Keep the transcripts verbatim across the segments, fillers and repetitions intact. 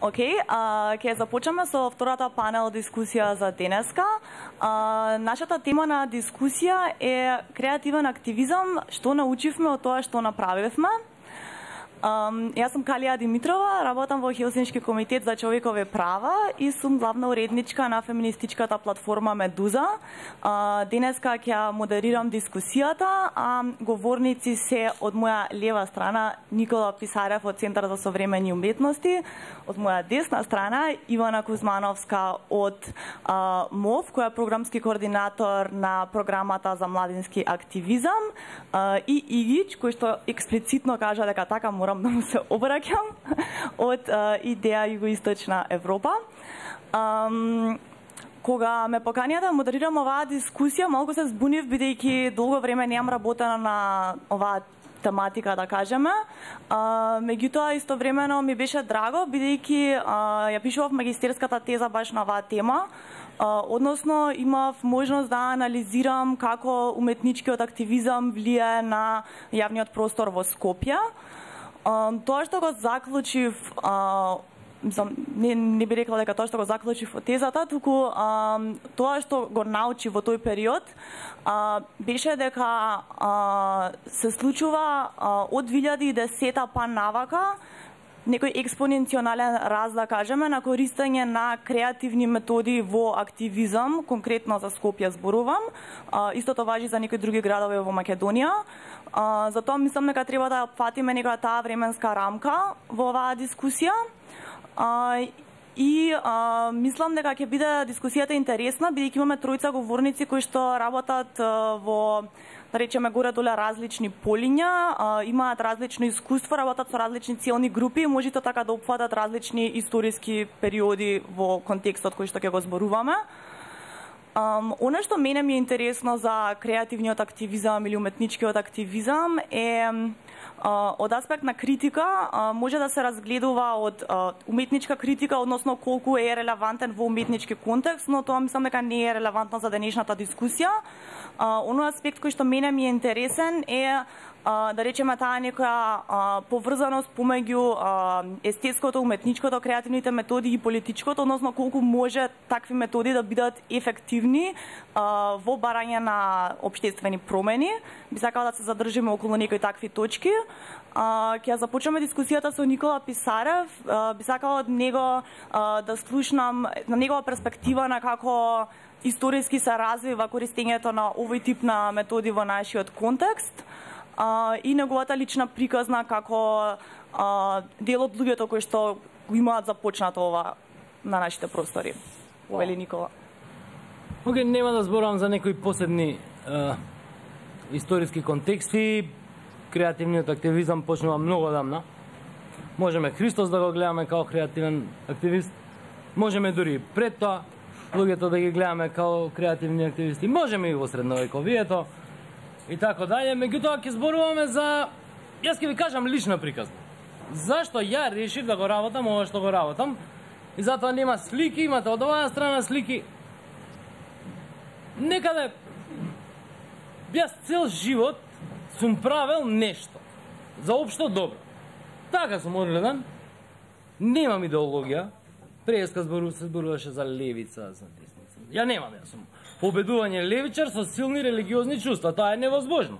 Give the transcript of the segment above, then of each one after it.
Океј, okay, ќе започнеме со втората панел дискусија за денеска. А, нашата тема на дискусија е креативен активизам, што научивме од тоа што направивме. Um, јас сум Калија Димитрова, работам во Хелсиншки комитет за човекови права и сум главна уредничка на феминистичката платформа Медуза. Uh, денеска ќе модерирам дискусијата, а говорници се од моја лева страна Никола Писарев од Центар за современи уметности, од моја десна страна Ивана Кузмановска од uh, МОВ, која е програмски координатор на програмата за младински активизам, uh, и Игич, кој што експлицитно кажа дека така мора да му се обраќам од uh, Идеја Југоисточна Европа. Um, кога ме поканија да модерирам оваа дискусија, малку се збунив, бидејќи долго време неам работена на оваа тематика, да кажеме. Uh, меѓутоа, истовремено ми беше драго, бидејќи uh, ја пишував магистерската теза баш на оваа тема. Uh, односно, имав можност да анализирам како уметничкиот активизам влијае на јавниот простор во Скопје. Um, тоа што го заклучив, uh, не, не би рекла дека тоа што го заклучив во тезата, туку um, тоа што го научи во тој период, uh, беше дека uh, се случува uh, од две илјади и десета па навака некој експоненционален раст, да кажеме, на користење на креативни методи во активизам, конкретно за Скопје зборувам. Uh, истото важи за некои други градови во Македонија. Uh, затоа мислам дека треба да фатиме некоја таа временска рамка во оваа дискусија. Uh, и uh, мислам дека ќе биде дискусијата интересна, бидејќи имаме тројца говорници кои што работат uh, во, да речеме, горе-доле различни полиња, uh, имаат различно искуство, работат со различни целни групи и можете така да опфатат различни историски периоди во контекстот кој што ќе го зборуваме. Um, Оно што мене ми е интересно за креативниот активизам или уметничкиот активизам е uh, од аспект на критика, uh, може да се разгледува од uh, уметничка критика, односно колку е релевантен во уметнички контекст, но тоа мислам дека не е релевантно за денешната дискусија. Uh, оно аспект кој што мене ми е интересен е Uh, да речеме таа некоја uh, поврзаност помеѓу uh, естетското, уметничкото, креативните методи и политичкото, односно колку може такви методи да бидат ефективни uh, во барање на општествени промени. Би сакала да се задржиме околу некои такви точки. Uh, ќе започнеме дискусијата со Никола Писарев. Uh, би сакала од него uh, да слушнам на негова перспектива на како историски се развива користењето на овој тип на методи во нашиот контекст. Uh, и неговата лична приказна како uh, дел од луѓето кои што го имаат започнато ова на нашите простори. Wow. Вели Никола. Океј, okay, нема да зборувам за некои посебни uh, историски контексти. Креативниот активизам почнува многу одамна. Можеме Христос да го гледаме како креативен активист. Можеме дури пред тоа луѓето да ги гледаме како креативни активисти. Можеме и во средновековието. И така дале, меѓутоа ќе зборуваме за, јас ќе ви кажам лична приказна. Зашто ја решив да го работам ова што го работам, и затоа нема слики, имате од оваа страна слики. Некаде, јас цел живот сум правел нешто за општо добро. Така сум одгледан, немам идеологија, преска збору, се зборуваше за левица, за десница. Ја немам, јас сум победување левичар со силни религиозни чувства. Тоа е невозможно.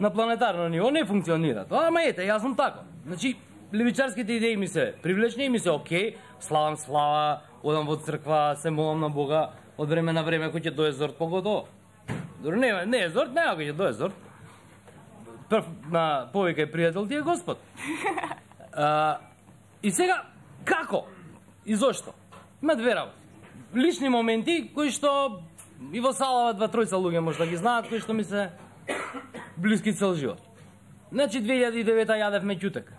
На планетарно ниво не функционира. Тоа, ама ете, јас сум тако. Значи, левичарските идеи ми се привлечни и ми се окей, славам слава, одам во црква, се молам на Бога, од време на време кој ќе дое зорт погодо. Дори не, не е зорт, не кој ќе дое зорт. Прв на повикај пријател ти е Господ. А, и сега, како? И зошто? Има две работи. Лични моменти кои што и во салава два тројца луѓе може да ги знаат, кои што ми се блиски цел живот. Значи, две илјади и девета јадев меќутек.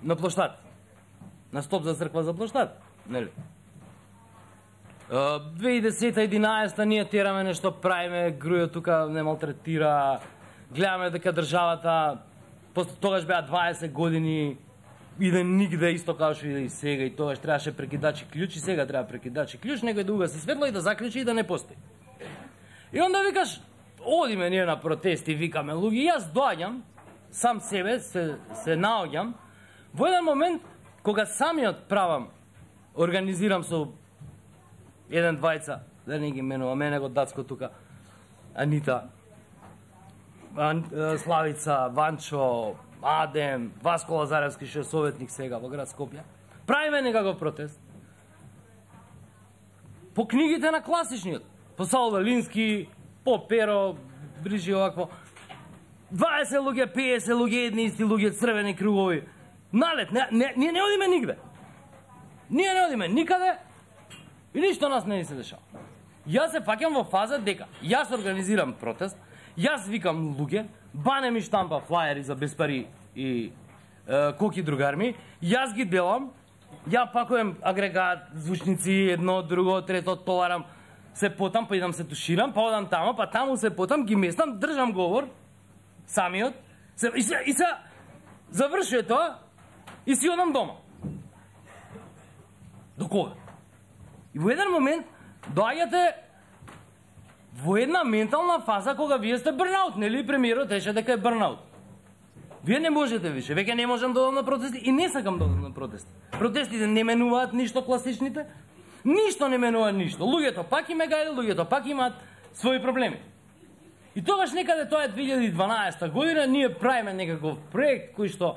На плоштад. На стоп за црква за плоштад. Нели? две илјади и десета единаесета ние тераме нешто, правиме, Грујо тука не малтретира, гледаме дека државата, тогаш беа дваесет години, иде нигде, исто како што и сега, и тогаш требаше прекидачи клjuč, и сега треба прекидачи клjuč, некој да угаси светло и да заклучи и да не постои. И онда викаш, одиме ние на протести, викаме луѓе, јас доаѓам, сам себе се, се наоѓам, во еден момент, кога самиот правам, организирам со еден двајца, да не ги менува, мене го Дацко тука, Анита, Ан, Славица, Ванчо, Адем, Васко Лазаревски, што е советник сега во град Скопје. Правиме некаков протест. По книгите на класичниот, по Саул Велински, по Перо, Брижи овакво. дваесет луѓе, песет луѓе, едни исти луѓе, црвени кругови. Налет, не, не, ние не одиме нигде. Ние не одиме никаде и ништо нас не ни се дешава. Јас се фаќам во фаза дека јас организирам протест, јас викам луѓе, Бане ми штампа флаери за без пари и е, коки другарми, јас ги делам, ја пакувам агрегат, звучници, едно, друго, трето, товарам, се потам, па идам се туширам, па одам тамо, па таму се потам, ги местам, држам говор, самиот, се, и, се, и се завршува тоа, и си одам дома. До кога? И во еден момент доаѓате во една ментална фаза кога вие сте бърнаут, нели премиерот еше дека е бърнаут. Вие не можете више, веќе не можам да одам на протести и не сакам да одам на протести. Протестите не менуваат ништо класичните, ништо не менува ништо. Луѓето пак има гајле, луѓето пак имаат своји проблеми. И тогаш некаде тоа е две илјади и дванаесета година, ние правиме некаков проект кој што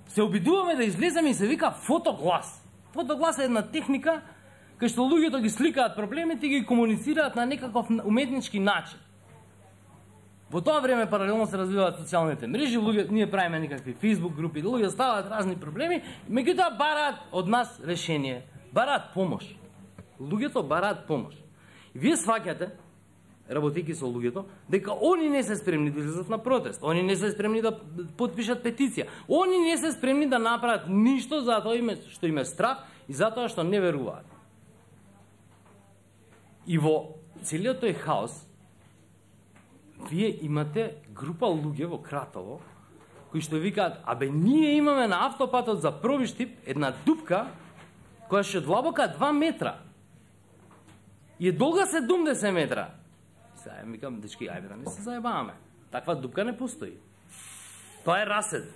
се обидуваме да излеземе и се вика фотоглас. Фотоглас е една техника кај што луѓето ги сликаат проблемите и ги комуницираат на некаков уметнички начин. Во тоа време паралелно се развиваат социјалните мрежи, луѓе, ние правиме некакви Facebook групи, луѓе ставаат разни проблеми, меѓутоа бараат од нас решение, бараат помош. Луѓето бараат помош. И вие сваќате, работејќи со луѓето, дека они не се спремни да излезат на протест, они не се спремни да потпишат петиција, они не се спремни да направат ништо затоа име, што им е страх и затоа што не веруваат. И во целиот тој хаос, вие имате група луѓе во Кратово, кои што викаат, абе ние имаме на автопатот за Пробиштип една дупка, која што е длабока два метра. И е долга седумдесет метра. Сега ми викам, дечки, ајде да не се заебаваме. Таква дупка не постои. Тоа е расед.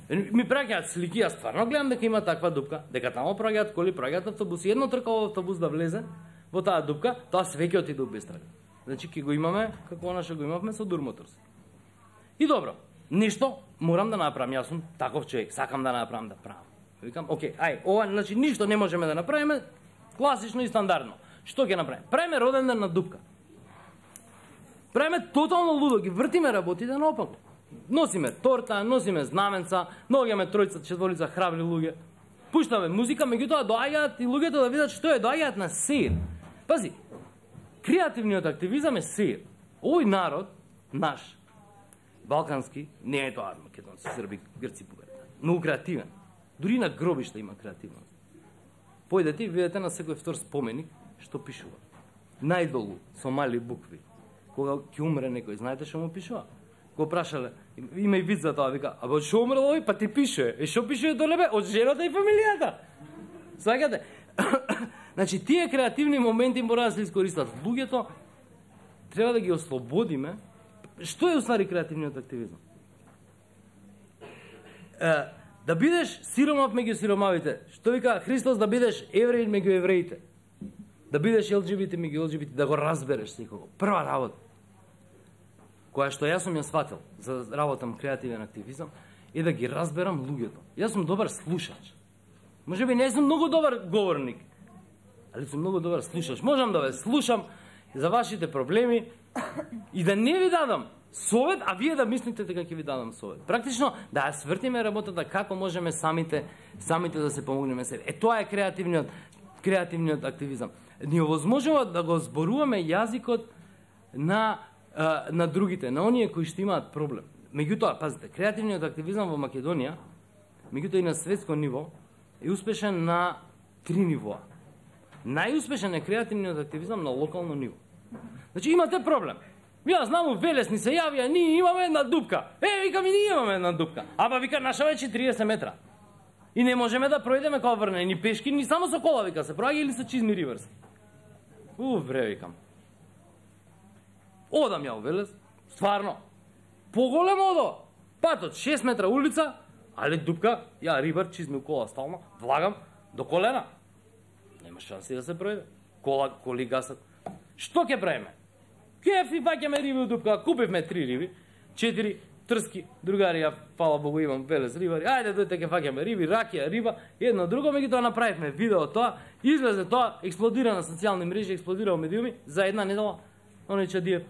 Ми праќаат слики, јас стварно гледам дека има таква дупка, дека тамо праќаат коли, праќаат автобуси, едно тркало автобус да влезе во таа дупка, тоа се веќе отиде без трага. Значи, ке го имаме, како она што го имавме со Дурмоторс. И добро, нешто морам да направам, јас сум таков човек, сакам да направам, да правам. Викам, окей, ај, ова, значи, ништо не можеме да направиме, класично и стандардно. Што ќе направиме? Правиме роден ден на дупка. Правиме тотално лудо, ги вртиме работите наопаку. Носиме торта, носиме знаменца, наоѓаме тројца, четворица храбри луѓе. Пуштаме музика, меѓутоа доаѓаат и луѓето да видат што е, доаѓаат на сеир. Пази, креативниот активизам е сеир. Овој народ, наш, балкански, не е тоа македонци, срби, грци, бугари, многу креативен. Дури на гробишта има креативност. Појдете и видите на секој втор споменик што пишува. Најдолу, со мали букви. Кога ќе умре некој, знаете што му пишува? Го прашале, има и вид за тоа, вика, абе од што умрел овој, па ти пише. Е што пише долебе? Од жената и фамилијата. Сваќате? Значи, тие креативни моменти мора да се искористат. Луѓето треба да ги ослободиме. Што е уствари креативниот активизам? Е, да бидеш сиромав меѓу сиромавите. Што вика Христос, да бидеш евреин меѓу евреите. Да бидеш ел џи би ти меѓу ел џи би ти, да го разбереш секого. Прва работа, која што јас сум ја сватил за работам креативен активизам, е да ги разберам луѓето. Јас сум добар слушач. Може би не сум многу добар говорник, али сум многу добар слушач. Можам да ве слушам за вашите проблеми и да не ви дадам совет, а вие да мислите дека ќе ви дадам совет. Практично да ја свртиме работата како можеме самите самите да се помогнеме себе. Е тоа е креативниот креативниот активизам. Ни овозможува да го зборуваме јазикот на а, на другите, на оние кои што имаат проблем. Меѓутоа, пазите, креативниот активизам во Македонија, меѓутоа и на светско ниво, е успешен на три нивоа. Најуспешен е креативниот активизам на локално ниво. Значи имате проблем. Ја знам, у Велес ни се јавија, ние имаме една дупка. Е, вика ми, ние имаме една дупка. Аба, вика, наша веќе триесет метра. И не можеме да пројдеме као врне, ни пешки, ни само со кола, вика, се проаѓа или со чизми риверс. У, вре, викам. Одам ја у Велес, стварно. Поголемо одо. Патот, шест метра улица, Але дупка, ја рибар, чизми кола стално, влагам до колена. Нема шанси да се пројде. Кола, коли гасат. Што ќе правиме? Кефи, фаќаме риби од дупка, купивме три риби, четири трски, другари, ја, фала Богу, имам велес рибари, ајде дојте ќе фаќаме риби, ракија, риба, едно друго, меѓутоа направивме видео тоа, излезе тоа, експлодира на социјални мрежи, експлодира во медиуми, за една недела, оној Чадиев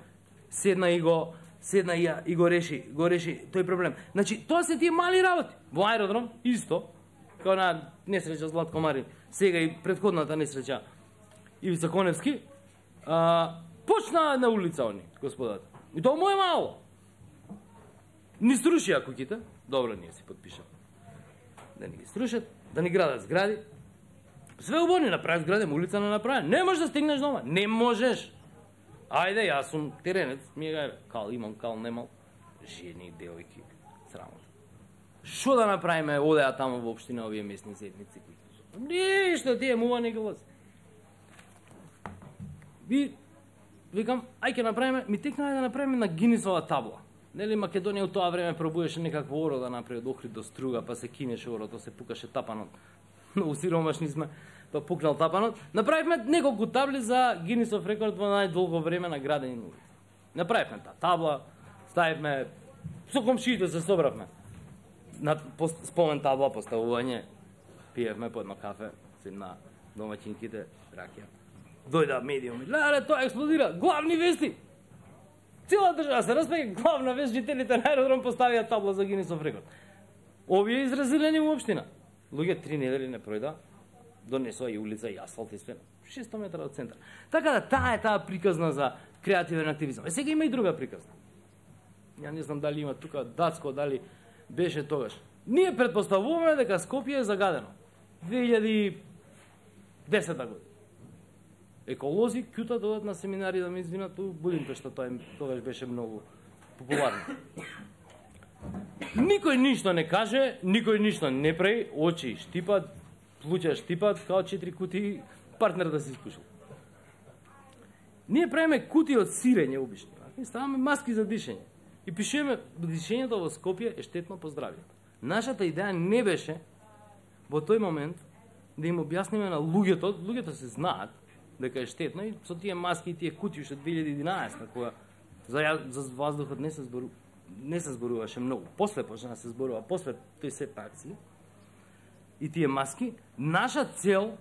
седна и го седна и, и го реши, го реши тој проблем. Значи, тоа се тие мали работи. Во аеродром исто, као на несреќа Златко Марин, сега и претходната несреќа Ивица Коневски, а, почна на улица они, господата. И тоа му е мало. Ни срушија куќите, добро, ние си подпишам. Да ни ги срушат, да ни градат згради. Све убаво, направи згради, улица не направи. Не можеш да стигнеш дома, не можеш. Ајде, јас сум теренец, ми е гајбе, кал имам, кал немал. Жени, девојки, срамота. Шо да направиме, одеа тамо во општина овие местни заедници? Ништо, тие мува не гласи. Ви, викам, ај ке направиме, ми текна да направиме на Гинисова табла. Нели Македонија у тоа време пробуеше некакво оро да направи од Охрид до Струга, па се кинеше орото, се пукаше тапанот. Многу сиромашни сме, па пукнал тапанот. Направивме неколку табли за Гинисов рекорд во најдолго време на градени улици. Направивме таа табла, ставивме, со комшиите се собравме. На спомен табла поставување, пиевме по едно кафе, си на домаќинките, ракија. Дојда медиуми, леле, тоа експлодира, главни вести! Цела држава се распеќе, главна вест, жителите на аеродром поставија табла за Гинисов рекорд. Овие изразилени во општина. Луѓе три недели не пројда, донесоа и улица и асфалт и све. шесто метра од центар. Така да таа е таа приказна за креативен активизам. Е сега има и друга приказна. Ја не знам дали има тука Дацко, дали беше тогаш. Ние претпоставуваме дека Скопје е загадено. две илјади и десета година. Еколози кјута додат на семинари да ме извинат у Будимпешта, тоа тогаш беше многу популарно. Никој ништо не каже, никој ништо не прави, очи штипат, плуќа штипат, као четири кутии, партнер да се испушил. Ние правиме кутии од сирење обични, и ставаме маски за дишење. И пишеме, дишењето во Скопје е штетно по здравјето. Нашата идеја не беше во тој момент да им објасниме на луѓето, луѓето се знаат дека е штетно и со тие маски и тие кутии уште две илјади и единаесета, која за, за воздухот не се зборува, не се зборуваше многу. После почна да се зборува, после тој сет акции и тие маски, наша цел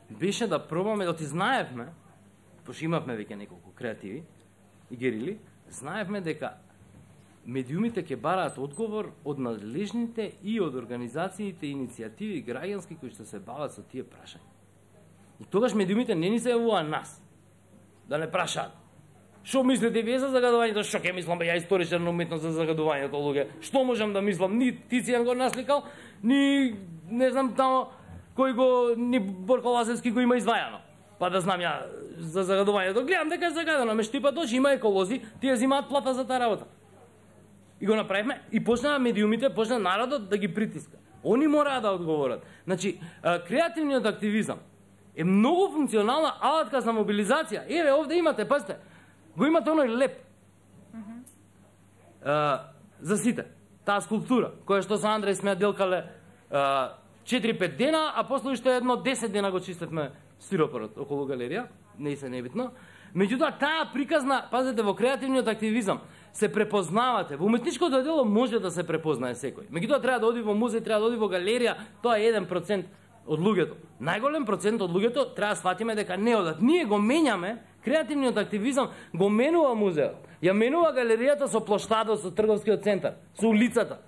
беше да пробаме, да ти знаевме, пошто имавме веќе неколку креативи и герили, знаевме дека медиумите ќе бараат одговор од надлежните и од организациите и иницијативи граѓански кои што се бават со тие прашања. И тогаш медиумите не ни се јавува нас да не прашаат. Што мислите вие за загадувањето? Што ќе мислам, бе, ја историчар на уметност за загадувањето, луѓе? Што можам да мислам? Ни Тицијан го насликал, ни не знам тамо кој го, ни Борко Лазевски го има извајано. Па да знам ја за загадувањето. Гледам дека е загадано, ме штипат очи, има еколози, тие взимаат плата за таа работа. И го направивме и почнаа медиумите, почна народот да ги притиска. Они мораа да одговорат. Значи, креативниот активизам е многу функционална алатка за мобилизација. Еве, овде имате, пазите, го имате оној леп. Mm-hmm. а, за сите. Таа скулптура, која што со Андреј сме делкале четири-пет дена, а после уште едно десет дена го чистевме стиропорот околу галерија, не се небитно. Меѓутоа, таа приказна, пазете, во креативниот активизам се препознавате. Во уметничкото дело може да се препознае секој. Меѓутоа, треба да оди во музеј, треба да оди во галерија, тоа е еден процент од луѓето. Најголем процент од луѓето треба да сватиме дека не одат. Ние го менјаме, креативниот активизам го менува музеот. Ја менува галеријата со плоштадот, со трговскиот центар, со улицата.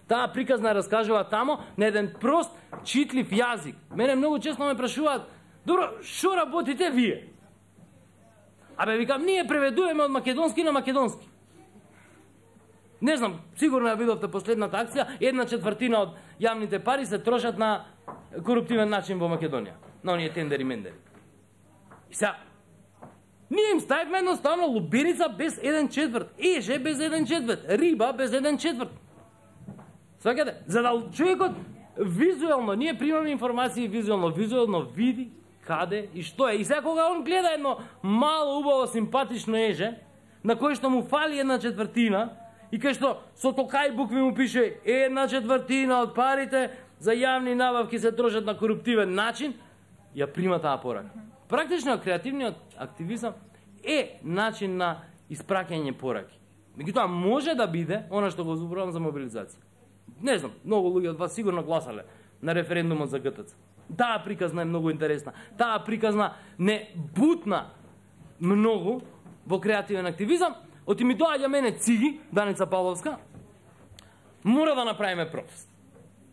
Таа приказна раскажува тамо на еден прост, читлив јазик. Мене многу често ме прашуваат: "Добро, што работите вие?" Абе, викам, ние преведуваме од македонски на македонски. Не знам, сигурно ја видовте последната акција, една четвртина од јавните пари се трошат на коруптивен начин во Македонија. На оние тендери мендери. И сега, ние им ставивме едноставно лубиница без еден четврт, еже без еден четврт, риба без еден четврт. Сваќате? За да човекот визуелно, ние примаме информации визуелно, визуелно види каде и што е. И сега кога он гледа едно мало, убаво, симпатично еже, на кој што му фали една четвртина, и кај што со токај букви му пише една четвртина од парите за јавни набавки се трошат на коруптивен начин, ја прима таа порака. Практично креативниот активизам е начин на испраќање пораки. Меѓутоа може да биде она што го зборувам за мобилизација. Не знам, многу луѓе од вас сигурно гласале на референдумот за Г Т Ц. Таа приказна е многу интересна. Таа приказна не бутна многу во креативен активизам. Оти ми доаѓа мене Циги, Даница Павловска, мора да направиме протест.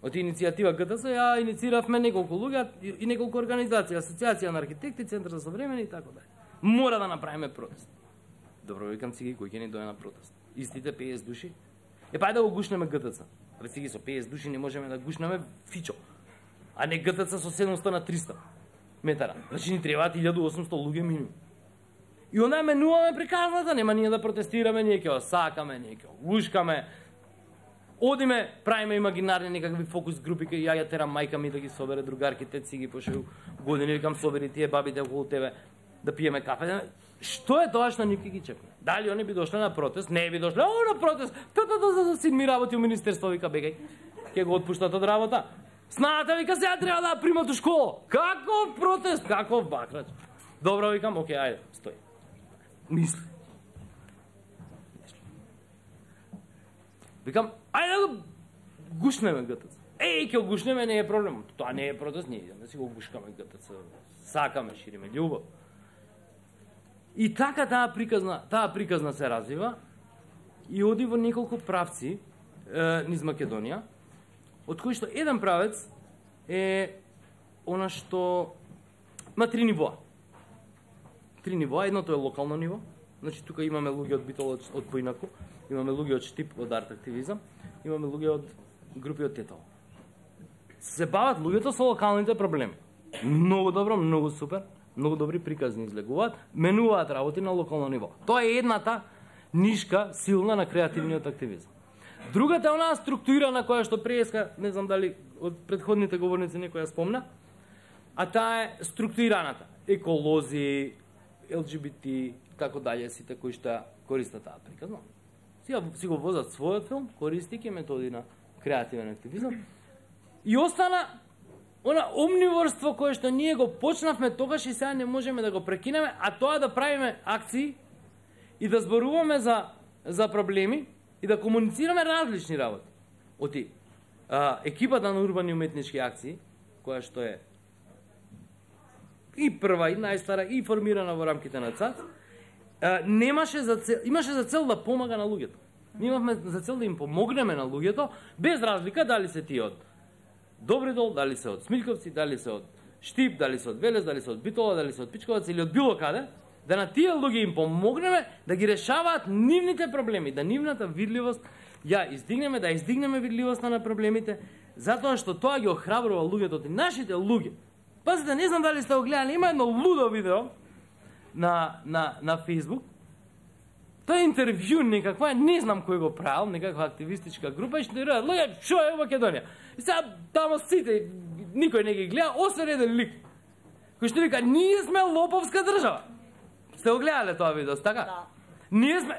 Од иницијатива Г Т Ц ја иницииравме неколку луѓе и неколку организации, Асоциација на архитекти, Центар за современи и така дале. Мора да направиме протест. Добро, викам Циги, кој ќе ни дојде на протест? Истите петдесет души? Е, па да го гушнеме Г Т Ц. Абе, Циги, со петдесет души не можеме да гушнеме Фичо, а не Г Т Ц со седумстотини на триста метара. Значи ни требаат илјаду и осумстотини луѓе минимум. И онда менуваме приказната, нема ние да протестираме, ние ќе осакаме, ние ќе гушкаме. Одиме, правиме имагинарни некакви фокус групи, кај ја ја терам мајка ми да ги собере другарките, Циги, пошто години викам собери тие бабите околу тебе да пиеме кафе. Што е тоа што ни ги чекаме? Дали они би дошле на протест? Не би дошле, о, на протест. Та-та-та, за син ми работи у министерство, вика, бегај. Ке го отпуштат од работа. Сната, вика, сега треба да примат у школа. Каков протест? Каков бакрач? Добро, викам, окей, ајде, стој. Мисли. Викам, ајде да го гушнеме Г Т Ц. Еј, ќе го гушнеме, не е проблем. Тоа не е протест, ние идеме да си го гушкаме Г Т Ц. Сакаме, шириме љубов. И така таа приказна, таа приказна се развива и оди во неколку правци е, низ Македонија, од кои што еден правец е она што има три нивоа. Три нивоа, едното е локално ниво, значи тука имаме луѓе од Битола од Поинаку, имаме луѓе од Штип од арт активизам, имаме луѓе од групи од Тетово. Се бават луѓето со локалните проблеми. Многу добро, многу супер, многу добри приказни излегуваат, менуваат работи на локално ниво. Тоа е едната нишка силна на креативниот активизам. Другата е онаа структурирана која што преска, не знам дали од претходните говорници некој ја спомна, а таа е структурираната. Еколози, Л Г Б Т, така дале, сите кои што користат таа приказна. Сега си го возат својот филм, користики методи на креативен активизам. И остана она омниворство кое што ние го почнавме тогаш и сега не можеме да го прекинеме, а тоа да правиме акции и да зборуваме за за проблеми и да комуницираме различни работи. Оти а, екипата на урбани уметнички акции, која што е и прва и најстара и формирана во рамките на ЦАЦ, а, немаше за цел, имаше за цел да помага на луѓето. Ние имавме за цел да им помогнеме на луѓето без разлика дали се тие од Добридол, дали се од Смилковци, дали се од Штип, дали се од Велес, дали се од Битола, дали се од Пичковаc или од било каде, да на тие луѓе им помогнеме да ги решаваат нивните проблеми, да нивната видливост ја издигнеме, да издигнеме видливоста на проблемите, затоа што тоа ги охрабрува луѓето, и нашите луѓе. Пазите, не знам дали сте го гледали, има едно лудо видео на на на Facebook. Тоа е интервју некаква, не знам кој го правил, некаква активистичка група, и што рече, луѓе, што е Македонија? И сега тамо сите, никој не ги гледа, освен еден лик, кој што вика, ние сме лоповска држава. Сте го гледале тоа видео, така? Да. Ние сме...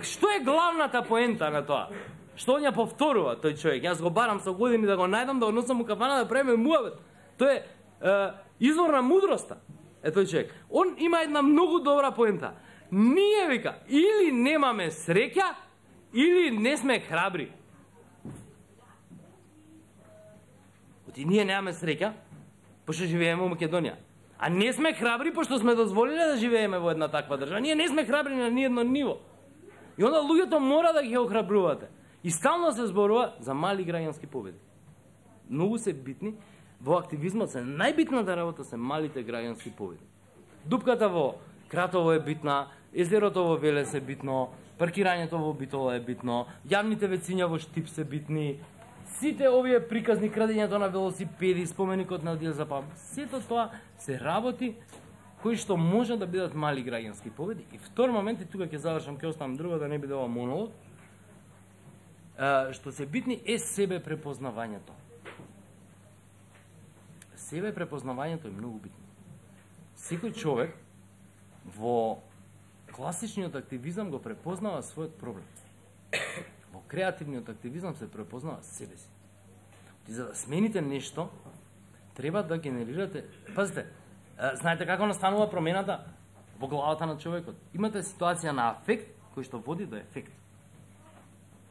Што е главната поента на тоа? Што он ја повторува тој човек? Јас го барам со години да го најдам, да го носам у кафана, да правиме муабет. Тоа е, е извор на мудроста. Е тој човек. Он има една многу добра поента. Ние, вика, или немаме среќа, или не сме храбри. Оти ние немаме среќа, пошто живееме во Македонија. А не сме храбри, пошто сме дозволиле да живееме во една таква држава. Ние не сме храбри на ниедно ниво. И онда луѓето мора да ги охрабрувате. И стално се зборува за мали граѓански победи. Многу се битни. Во активизмот се најбитната работа се малите граѓански победи. Дупката во Кратово е битна, езерото во Велес е битно, паркирањето во Битола е битно, јавните вециња во Штип се битни, сите овие приказни, крадењето на велосипеди, споменикот на Одил Запам, сето тоа се работи кои што може да бидат мали граѓански победи. И втор момент, и тука ќе завршам, ќе оставам друго да не биде ова монолог, што се битни е себе препознавањето. Себе препознавањето е многу битно. Секој човек во класичниот активизам го препознава својот проблем. креативниот активизам се препознава себе си. И за да смените нешто, треба да генерирате... Пазите, знаете како настанува промената во главата на човекот? Имате ситуација на афект, кој што води до ефект.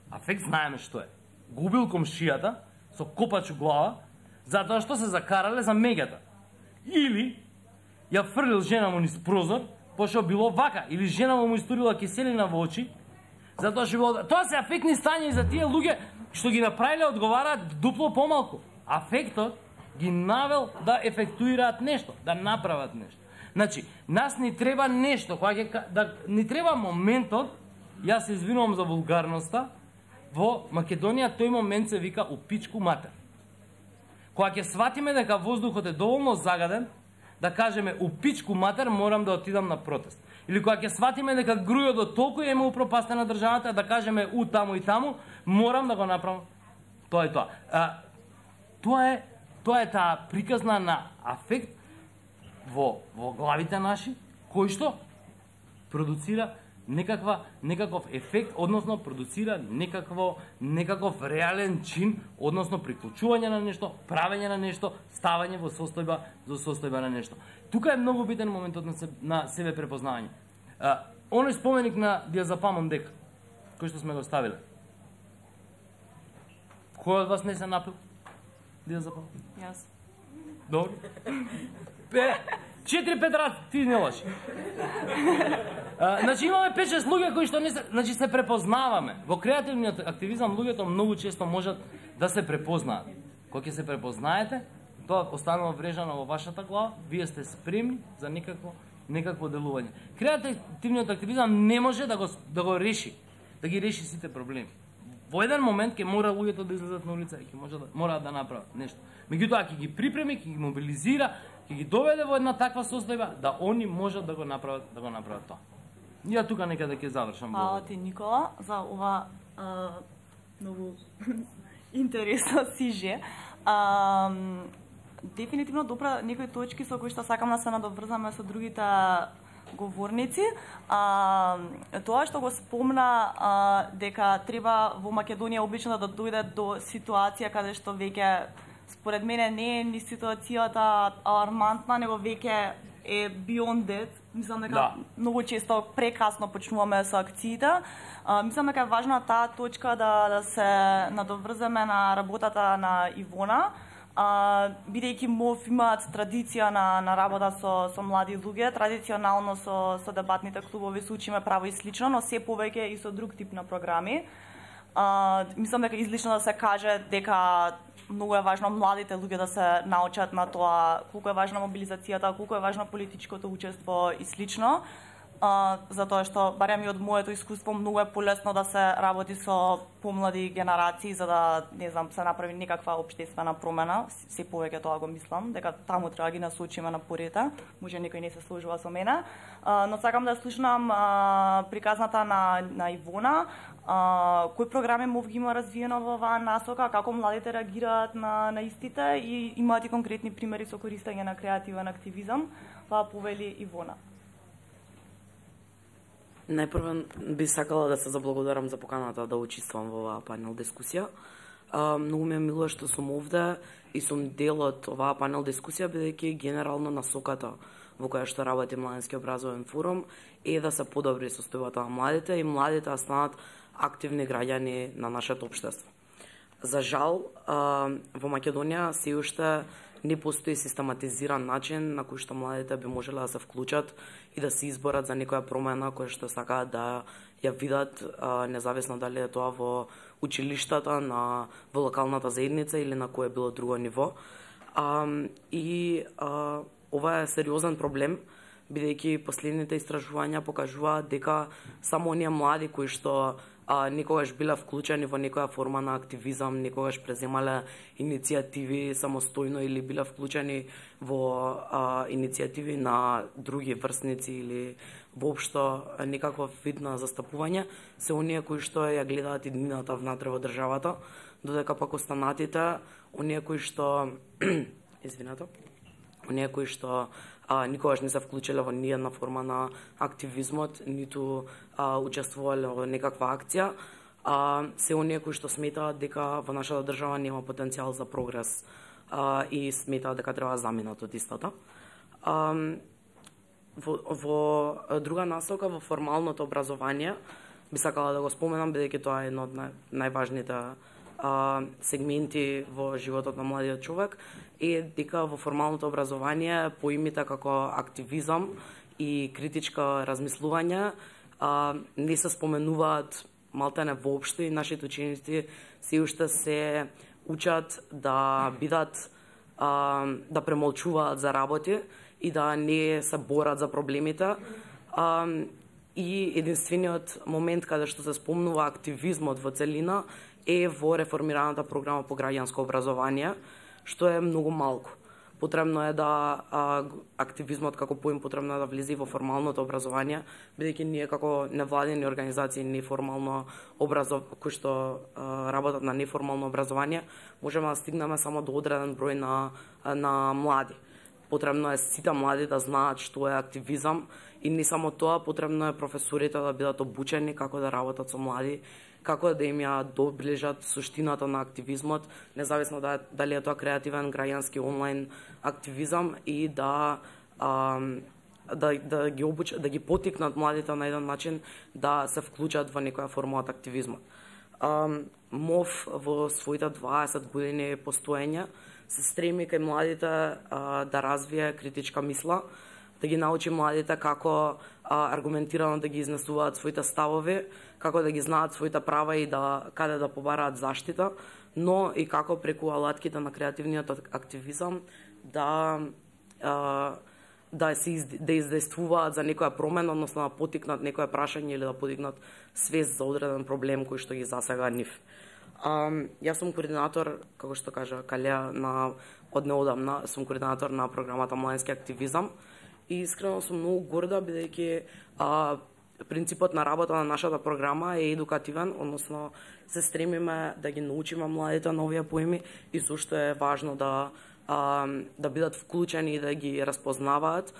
Афект знаеме што е. Губил комшијата со копач у глава, затоа што се закарале за меѓата. Или ја фрлил жена му низ прозор, пошто било вака, или жена му му истурила киселина во очи, затоа што било... Тоа се афектни стања и за тие луѓе што ги направиле одговараат дупло помалку. Афектот ги навел да ефектуираат нешто, да направат нешто. Значи, нас ни треба нешто, кога ќе да ни треба моментот, јас се извинувам за вулгарноста, во Македонија тој момент се вика у пичку матер. Кога ќе сватиме дека воздухот е доволно загаден, да кажеме у пичку матер морам да отидам на протест. Или кога ќе сватиме дека грујот толку е упропастена државата, да кажеме у таму и таму, морам да го направам. Тоа е тоа. А, тоа е тоа е таа приказна на афект во во главите наши, кој што продуцира некаква некаков ефект, односно продуцира некакво некаков реален чин, односно приклучување на нешто, правење на нешто, ставање во состојба за состојба на нешто. Тука е многу битен моментот на, се, на себе препознавање. А, оној споменик на диазепамон дека, кој што сме го ставиле. Кој од вас не се напил диазепамон? Јас. Добро. Пе, четири пет раз ти не лажи. А, значи имаме пет шест луѓе кои што не се, значи се препознаваме. Во креативниот активизам луѓето многу често можат да се препознаат. Кога ќе се препознаете, тоа останува врежано во вашата глава, вие сте спремни за некакво некакво делување. Креативниот активизам не може да го да го реши, да ги реши сите проблеми. Во еден момент ќе мора луѓето да излезат на улица и ќе може да мораат да направат нешто. Меѓутоа ќе ги припреми, ќе ги мобилизира, ќе ги доведе во една таква состојба да они можат да го направат, да го направат тоа. И ја тука некаде ќе завршам. Фала ти, Никола, за ова а, многу интересно сиже. А, дефинитивно добра некои точки со кои што сакам да се надоврзаме со другите говорници. А, тоа што го спомна а, дека треба во Македонија обично да дојде до ситуација каде што веќе според мене не е ни ситуацијата алармантна, него веќе е beyond that. Мислам дека да. Многу често прекасно почнуваме со акциите. А, мислам дека е важна таа точка да, да се надоврземе на работата на Ивона. Uh, бидејќи МОВ имаат традиција на, на работа со, со млади луѓе, традиционално со, со дебатните клубови се учиме право и слично, но се повеќе и со друг тип на програми. Uh, мислам дека излишно да се каже дека многу е важно младите луѓе да се научат на тоа колку е важна мобилизацијата, колку е важно политичкото учество и слично. Uh, затоа што, барем и од моето искуство, многу е полесно да се работи со помлади генерации за да, не знам, се направи некаква општествена промена. Се повеќе тоа го мислам, дека таму треба да ги насочиме на порите. Може некој не се сложува со мене. Uh, но сакам да слушнам uh, приказната на, на Ивона. Uh, кои програми МОВ ги има развиено во оваа насока, како младите реагираат на, на истите и имаат и конкретни примери со користење на креативен активизам. Тоа повели Ивона. Најпрво би сакала да се заблагодарам за поканата да учествувам во оваа панел дискусија. А, многу ми е мило што сум овде и сум дел од оваа панел дискусија, бидејќи генерално насоката во која што работи Младински образовен форум е да се подобри состојбата на младите и младите да станат активни граѓани на нашето општество. За жал, а, во Македонија се уште не постои систематизиран начин на кој што младите би можеле да се вклучат и да се изборат за некоја промена која што сакаат да ја видат, а, независно дали е тоа во училиштата, на во локалната заедница или на кое било друго ниво. А, и а, ова е сериозен проблем, бидејќи последните истражувања покажуваат дека само оние млади кои што а, некогаш биле вклучени во некоја форма на активизам, некогаш преземале иницијативи самостојно или биле вклучени во а, иницијативи на други врсници или воопшто некаков вид на застапување, се оние кои што ја гледаат иднината внатре во државата, додека пак останатите, оние кои што извинете, оние кои што а, никогаш не се вклучиле во ни една форма на активизмот, ниту а, учествувале во некаква акција, а, се оние кои што сметаат дека во нашата држава нема потенцијал за прогрес а, и сметаат дека треба да заминат од истата. А, во, во друга насока, во формалното образование, би сакала да го споменам, бидејќи тоа е едно од нај, најважните а, сегменти во животот на младиот човек, е дека во формалното образование поимите како активизам и критичко размислување а, не се споменуваат малтене воопшто и нашите ученици се уште се учат да бидат а, да премолчуваат за работи и да не се борат за проблемите. А, и единствениот момент каде што се спомнува активизмот во целина е во реформираната програма по граѓанско образование, што е многу малку. Потребно е да а, активизмот како поим потребно е да влезе во формалното образование, бидејќи ние како невладени организации неформално образов кои што а, работат на неформално образование, можеме да стигнеме само до одреден број на на млади. Потребно е сите млади да знаат што е активизам и не само тоа, потребно е професорите да бидат обучени како да работат со млади, како да им ја доближат суштината на активизмот, независно да, дали е тоа креативен граѓански онлайн активизам и да а, да, да ги обучат, да ги потикнат младите на еден начин да се вклучат во некоја форма од активизмот. А, МОВ во своите дваесет години постоење се стреми кај младите а, да развие критичка мисла, да ги научи младите како а, аргументирано да ги изнесуваат своите ставови, како да ги знаат своите права и да каде да побараат заштита, но и како преку алатките на креативниот активизам да а, да се из, да издействуваат за некоја промена, односно да потикнат некое прашање или да подигнат свест за одреден проблем кој што ги засега нив. А, јас сум координатор, како што кажа Калеа, на од неодамна сум координатор на програмата Младински активизам и искрено сум многу горда бидејќи а, принципот на работа на нашата програма е едукативен, односно се стремиме да ги научиме младите на овие поеми и сушто е важно да а, да бидат вклучени и да ги разпознаваат.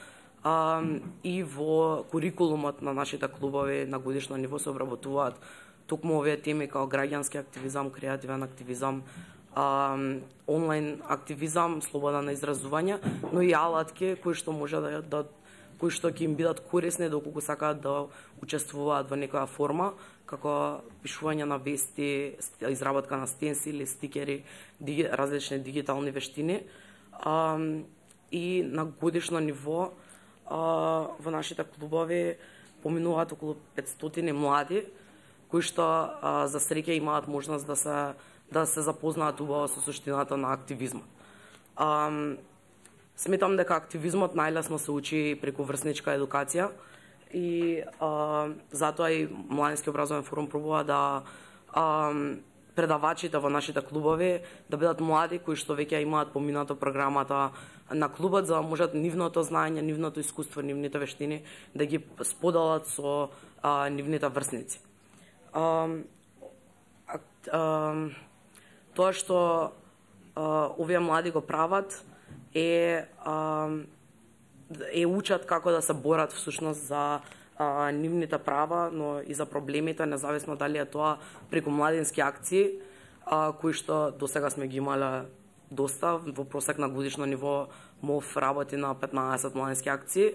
А, и во курикулумот на нашите клубови на годишно ниво се обработуваат токму овие теми како граѓански активизам, креативен активизам, а, онлайн активизам, слобода на изразување, но и алатки кои што може да, да кои што ќе им бидат корисни доколку сакаат да учествуваат во некоја форма, како пишување на вести, изработка на стенсили, стикери, диги, различни дигитални вештини. А, и на годишно ниво а, во нашите клубови поминуваат околу петстотини млади, кои што а, за среќа имаат можност да се да се запознаат убаво со суштината на активизмот. А, сметам дека активизмот најлесно се учи преку врсничка едукација и а, затоа и Младински образовен форум пробува да а, предавачите во нашите клубови да бидат млади кои што веќе имаат поминато програмата на клубот, за да можат нивното знаење, нивното искуство, нивните вештини да ги споделат со а, нивните врсници. А, а, тоа што а, овие млади го прават е а, е учат како да се борат всушност за а, нивните права, но и за проблемите, независно дали е тоа преку младински акции, а, кои што досега сме ги имале доста, во просек на годишно ниво МОВ работи на петнаесет младински акции,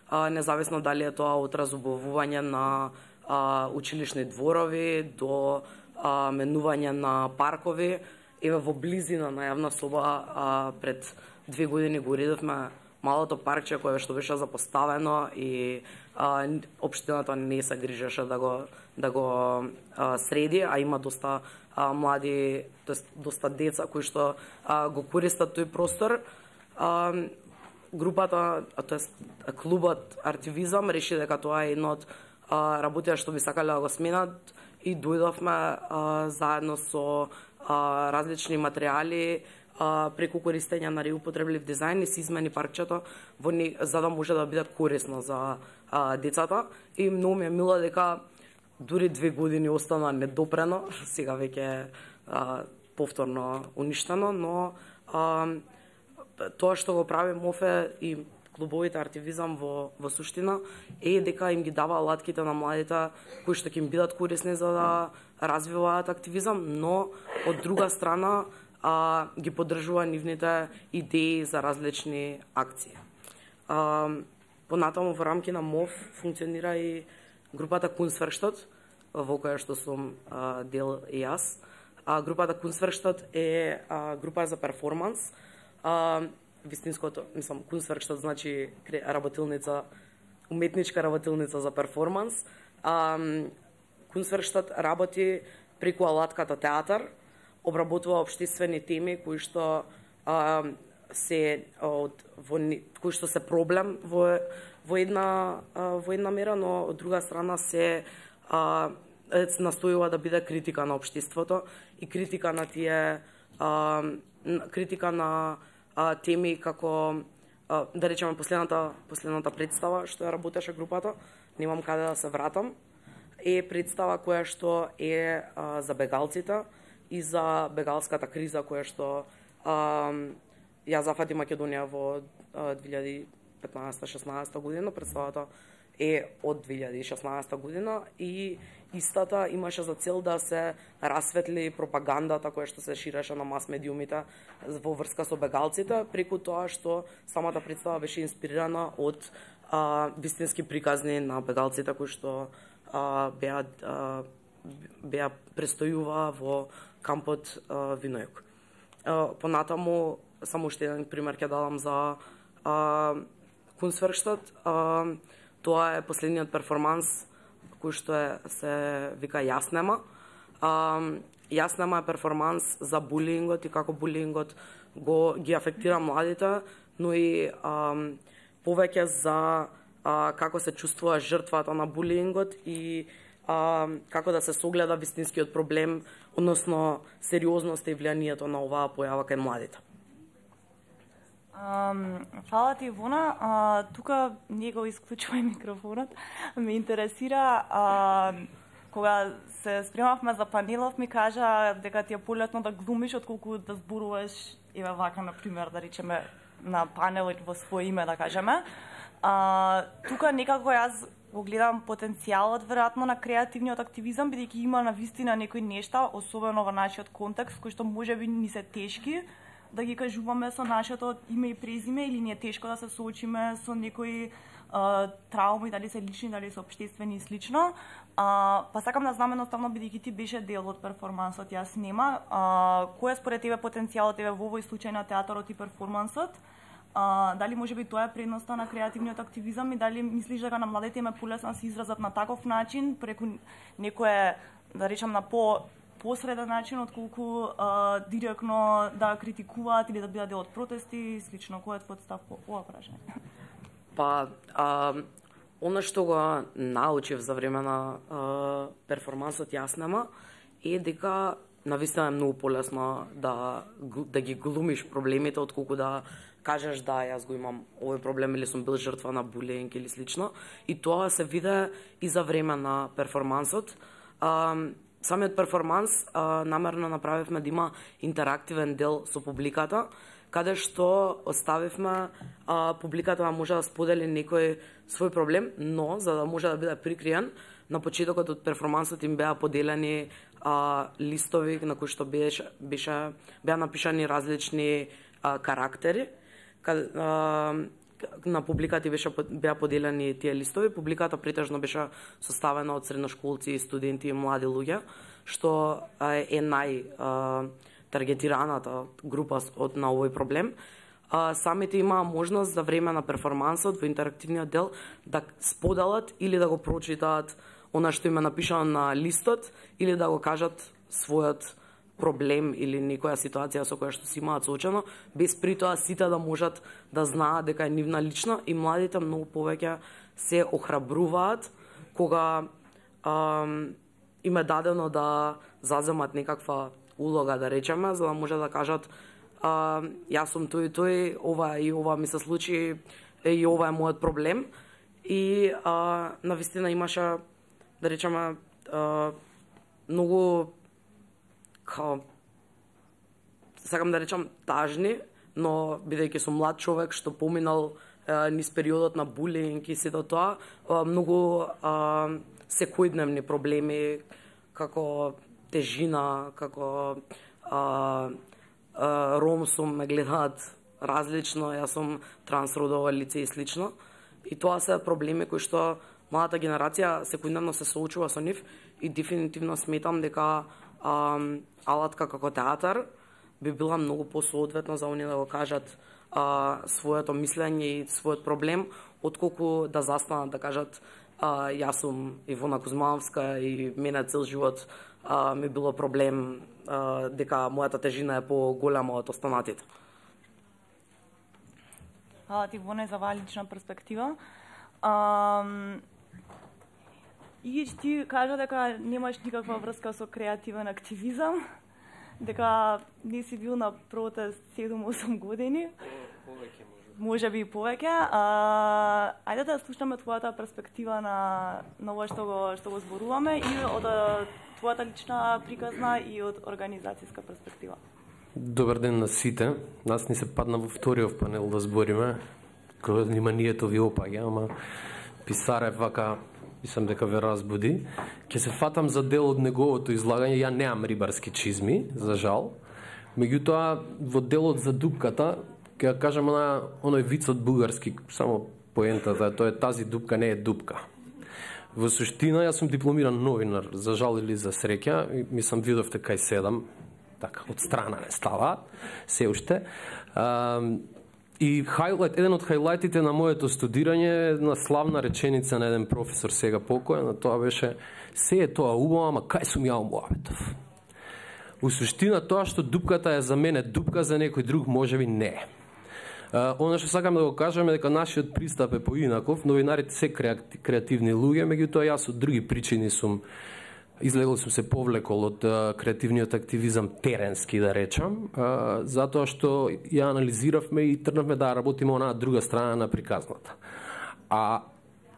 а, независно дали е тоа од разубавување на а, училишни дворови до а, менување на паркови. Еве во близина на јавна соба а, пред две години го уредовме малото паркче кое што беше запоставено и а, општината не се грижеше да го да го а, среди, а има доста а, млади, тоест доста деца кои што а, го користат тој простор. А, групата, тоест клубот Артивизам реши дека тоа е едно од работите што би сакале да го сменат и дојдовме а, заедно со а, различни материјали а, преку користење на реупотреблив дизајн и се измени паркчето во не, за да може да биде корисно за а, децата. И многу ми е мило дека дури две години остана недопрено, сега веќе а, повторно уништено, но а, тоа што го прави МОВ е и клубовите артивизам во во суштина е дека им ги дава алатките на младите кои што ќе им бидат корисни за да развиваат активизам, но од друга страна а, ги поддржува нивните идеи за различни акции. А, понатаму во рамки на МОВ функционира и групата Kunstwerkstatt, во која што сум а, дел и јас. А, групата Kunstwerkstatt е а, група за перформанс. А, вистинското, мислам, Kunstwerkstatt значи работилница, уметничка работилница за перформанс. А, Kunstwerkstatt работи преку алатката театар, обработува општествени теми кои што а, се од во кои што се проблем во во една а, во една мера, но од друга страна се а, настојува да биде критика на општеството и критика на тие а, критика на а, теми како а, да речеме последната последната представа што ја работеше групата, немам каде да се вратам, е представа која што е а, за бегалците и за бегалската криза која што а, ја зафати Македонија во две илјади и петнаесета шеснаесета година. Представата е од две илјади и шеснаесета година и истата имаше за цел да се расветли пропагандата која што се ширеше на мас медиумите во врска со бегалците, преку тоа што самата представа беше инспирирана од а, вистински приказни на бегалците кои што а, беа а, беа престојува во кампот а, Винојук. А, понатаму само уште еден пример ќе дадам за а, Kunstwerkstatt. А, тоа е последниот перформанс кој што е, се вика Јаснема. А, Јаснема е перформанс за булингот и како булингот го ги афектира младите, но и а, повеќе за а, како се чувствува жртвата на булингот и а, како да се согледа вистинскиот проблем, односно сериозноста и влијанието на оваа појава кај младите. Um, фала ти, Ивона. Uh, тука не го исклучувај микрофонот. Ме интересира, uh, кога се спремавме за панелов, ми кажа дека ти е полетно да глумиш отколку да зборуваш, еве вака, например, да речеме, на панел во своје име, да кажеме. Uh, тука некако јас го гледам потенцијалот, веројатно, на креативниот активизам, бидејќи има на вистина некои нешта, особено во нашиот контекст, кои што можеби ни се тешки, да ги кажуваме со нашето име и презиме, или ни е тешко да се соочиме со некои а, трауми, дали се лични, дали се општествени и слично. А, па сакам да знам едноставно, бидејќи ти беше дел од перформансот, јас нема, а, кој е според тебе потенцијалот тебе во овој случај на театарот и перформансот? А, дали може би тоа е предноста на креативниот активизам и дали мислиш дека на младите им е полесно да се изразат на таков начин, преку некое, да речам, на по посреден начин, отколку а, директно да критикуваат или да бидат дел од протести и слично. Кој е твојот став по ова прашање? Па, а, она што го научив за време на а, перформансот Јаснема е дека навистина е многу полесно да, да ги глумиш проблемите, отколку да кажеш да, јас го имам овој проблем или сум бил жртва на булинг или слично. И тоа се виде и за време на перформансот. А, Самиот перформанс а, намерно направивме да има интерактивен дел со публиката, каде што оставивме а, публиката да може да сподели некој свој проблем, но за да може да биде прикриен, на почетокот од перформансот им беа поделени а, листови на кои што беше, беше беа напишани различни а, карактери. Каде, а, на публиката беше беа поделени тие листови. Публиката претежно беше составена од средношколци, студенти и млади луѓе, што е нај таргетираната група од на овој проблем. А, самите имаа можност за време на перформансот во интерактивниот дел да споделат или да го прочитаат она што им е напишано на листот или да го кажат својот проблем или некоја ситуација со која што си имаат соочено, без при тоа сите да можат да знаат дека е нивна лична, и младите многу повеќе се охрабруваат кога ам, им е дадено да заземат некаква улога, да речеме, за да може да кажат а, јас сум тој и тој, ова и ова ми се случи, и ова е мојот проблем. И а, навистина имаше, да речеме, а, многу као, сакам да речам, тажни, но бидејќи сум млад човек што поминал низ периодот на булинг и сето тоа, многу секојдневни проблеми, како тежина, како а, а, ром сум, ме гледаат различно, јас сум трансродово лице и слично. И тоа се проблеми кои што младата генерација секојдневно се соочува со нив и дефинитивно сметам дека а, алатка како театар би била многу посоодветна за оние да го кажат а, своето мислење и својот проблем, отколку да застанат да кажат а, јас сум Ивона Кузмановска и мене цел живот а, ми било проблем а, дека мојата тежина е поголема од останатите. Хвала ти, Ивона, за оваа лична перспектива. Um... И ти кажа дека немаш никаква врска со креативен активизам, дека не си бил на протест седум-осум години. Повеќе може. Може би и повеќе. А, ајде да слушаме твојата перспектива на на ова што го што го зборуваме и од твојата лична приказна и од организацијска перспектива. Добар ден на сите. Нас ни се падна во вториот панел да збориме. Кога вниманието ви опаѓа, ама Писарев вака мислам дека ве разбуди. Ќе се фатам за дел од неговото излагање. Ја неам рибарски чизми, за жал. Меѓутоа, во делот за дупката, ќе кажам на оној вицот бугарски, само поентата, тоа е тази дупка не е дупка. Во суштина, јас сум дипломиран новинар, за жал или за среќа, мислам видовте кај седам, така, од страна не става, се уште. А, И хайлайт, еден од хайлайтите на моето студирање е една славна реченица на еден професор сега покоен, на тоа беше: се е тоа убаво, ама кај сум ја Муаветов. У суштина тоа што дупката е за мене дупка, за некој друг можеби не. Uh, Оно што сакам да го кажам е дека нашиот пристап е поинаков, новинарите се креативни луѓе, меѓутоа јас од други причини сум излегол сум се повлекол од uh, креативниот активизам теренски, да речам, uh, затоа што ја анализиравме и тргнавме да работиме онаа друга страна на приказната. А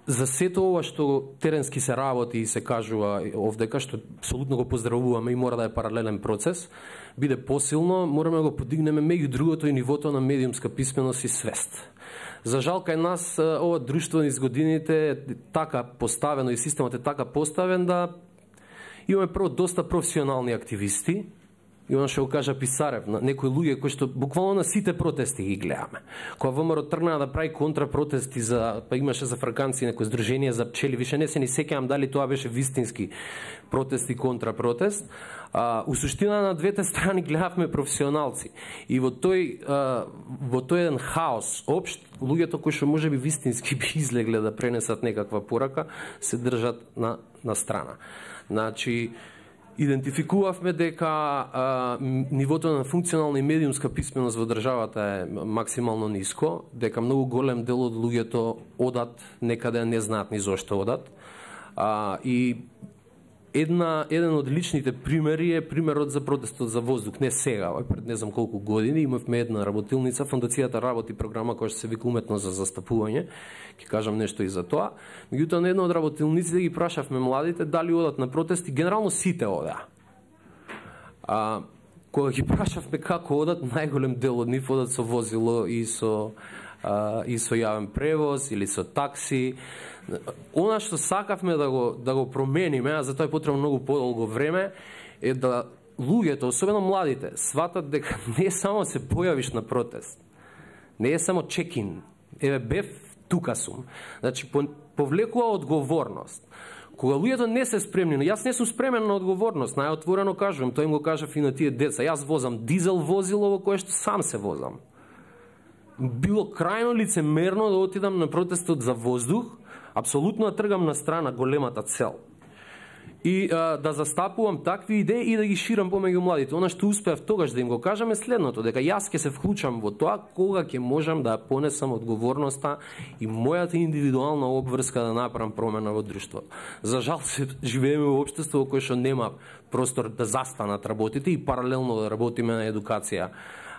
за сето ова што теренски се работи и се кажува овдека, што апсолутно го поздравуваме и мора да е паралелен процес, биде посилно, мораме да го подигнеме меѓу другото и нивото на медиумска писменост и свест. За жал, кај нас ова друштво низ годините е така поставено и системот е така поставен да имаме прво доста професионални активисти, и оно што го кажа Писарев, на некои луѓе кои што буквално на сите протести ги гледаме. Кога ВМРО тргна да прави контрапротести, за, па имаше за фраканци некои здружение за пчели, више не се ни сеќавам дали тоа беше вистински протест и контрапротест. А, у суштина на двете страни гледавме професионалци. И во тој, а, во тој еден хаос општ, луѓето кои што можеби вистински би излегле да пренесат некаква порака, се држат на, на страна. Значи, идентификувавме дека а, нивото на функционална и медиумска писменост во државата е максимално ниско, дека многу голем дел од луѓето одат некаде, не знаат ни зошто одат. А, и една, еден од личните примери е примерот за протестот за воздух. Не сега, пред не знам колку години, имавме една работилница, фондацијата работи програма која што се вика уметност за застапување, ќе кажам нешто и за тоа. Меѓутоа, на една од работилниците ги прашавме младите дали одат на протести, генерално сите одеа. А, кога ги прашавме како одат, најголем дел од нив одат со возило и со, а, и со јавен превоз или со такси. Она што сакавме да го, да го промениме, а за тоа е потребно многу подолго време, е да луѓето, особено младите, сватат дека не само се појавиш на протест, не е само чекин, еве бев, тука сум. Значи, повлекува одговорност. Кога луѓето не се спремни, но јас не сум спремен на одговорност, најотворено кажувам, тој им го кажав и на тие деца, јас возам дизел возило во кое што сам се возам. Било крајно лицемерно да отидам на протестот за воздух, апсолутно да тргам на страна големата цел. И а, да застапувам такви идеи и да ги ширам помеѓу младите. Она што успеав тогаш да им го кажам е следното, дека јас ќе се вклучам во тоа кога ќе можам да понесам одговорноста и мојата индивидуална обврска да направам промена во друштвото. За жал се живееме во општество во кое што нема простор да застанат работите и паралелно да работиме на едукација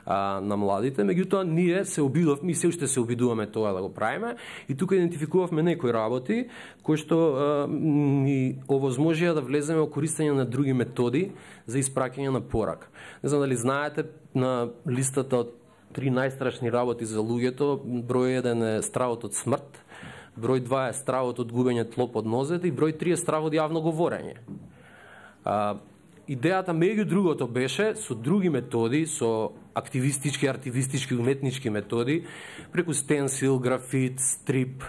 а, на младите, меѓутоа ние се обидовме и се уште се обидуваме тоа да го правиме и тука идентификувавме некои работи кои што а, ни овозможија да влеземе во користење на други методи за испраќање на порак. Не знам дали знаете, на листата од три најстрашни работи за луѓето. Број еден е стравот од смрт, број два е стравот од губење тло под нозете и број три е стравот од јавно говорење. А, идејата меѓу другото беше со други методи, со активистички, артивистички, уметнички методи, преку стенсил, графит, стрип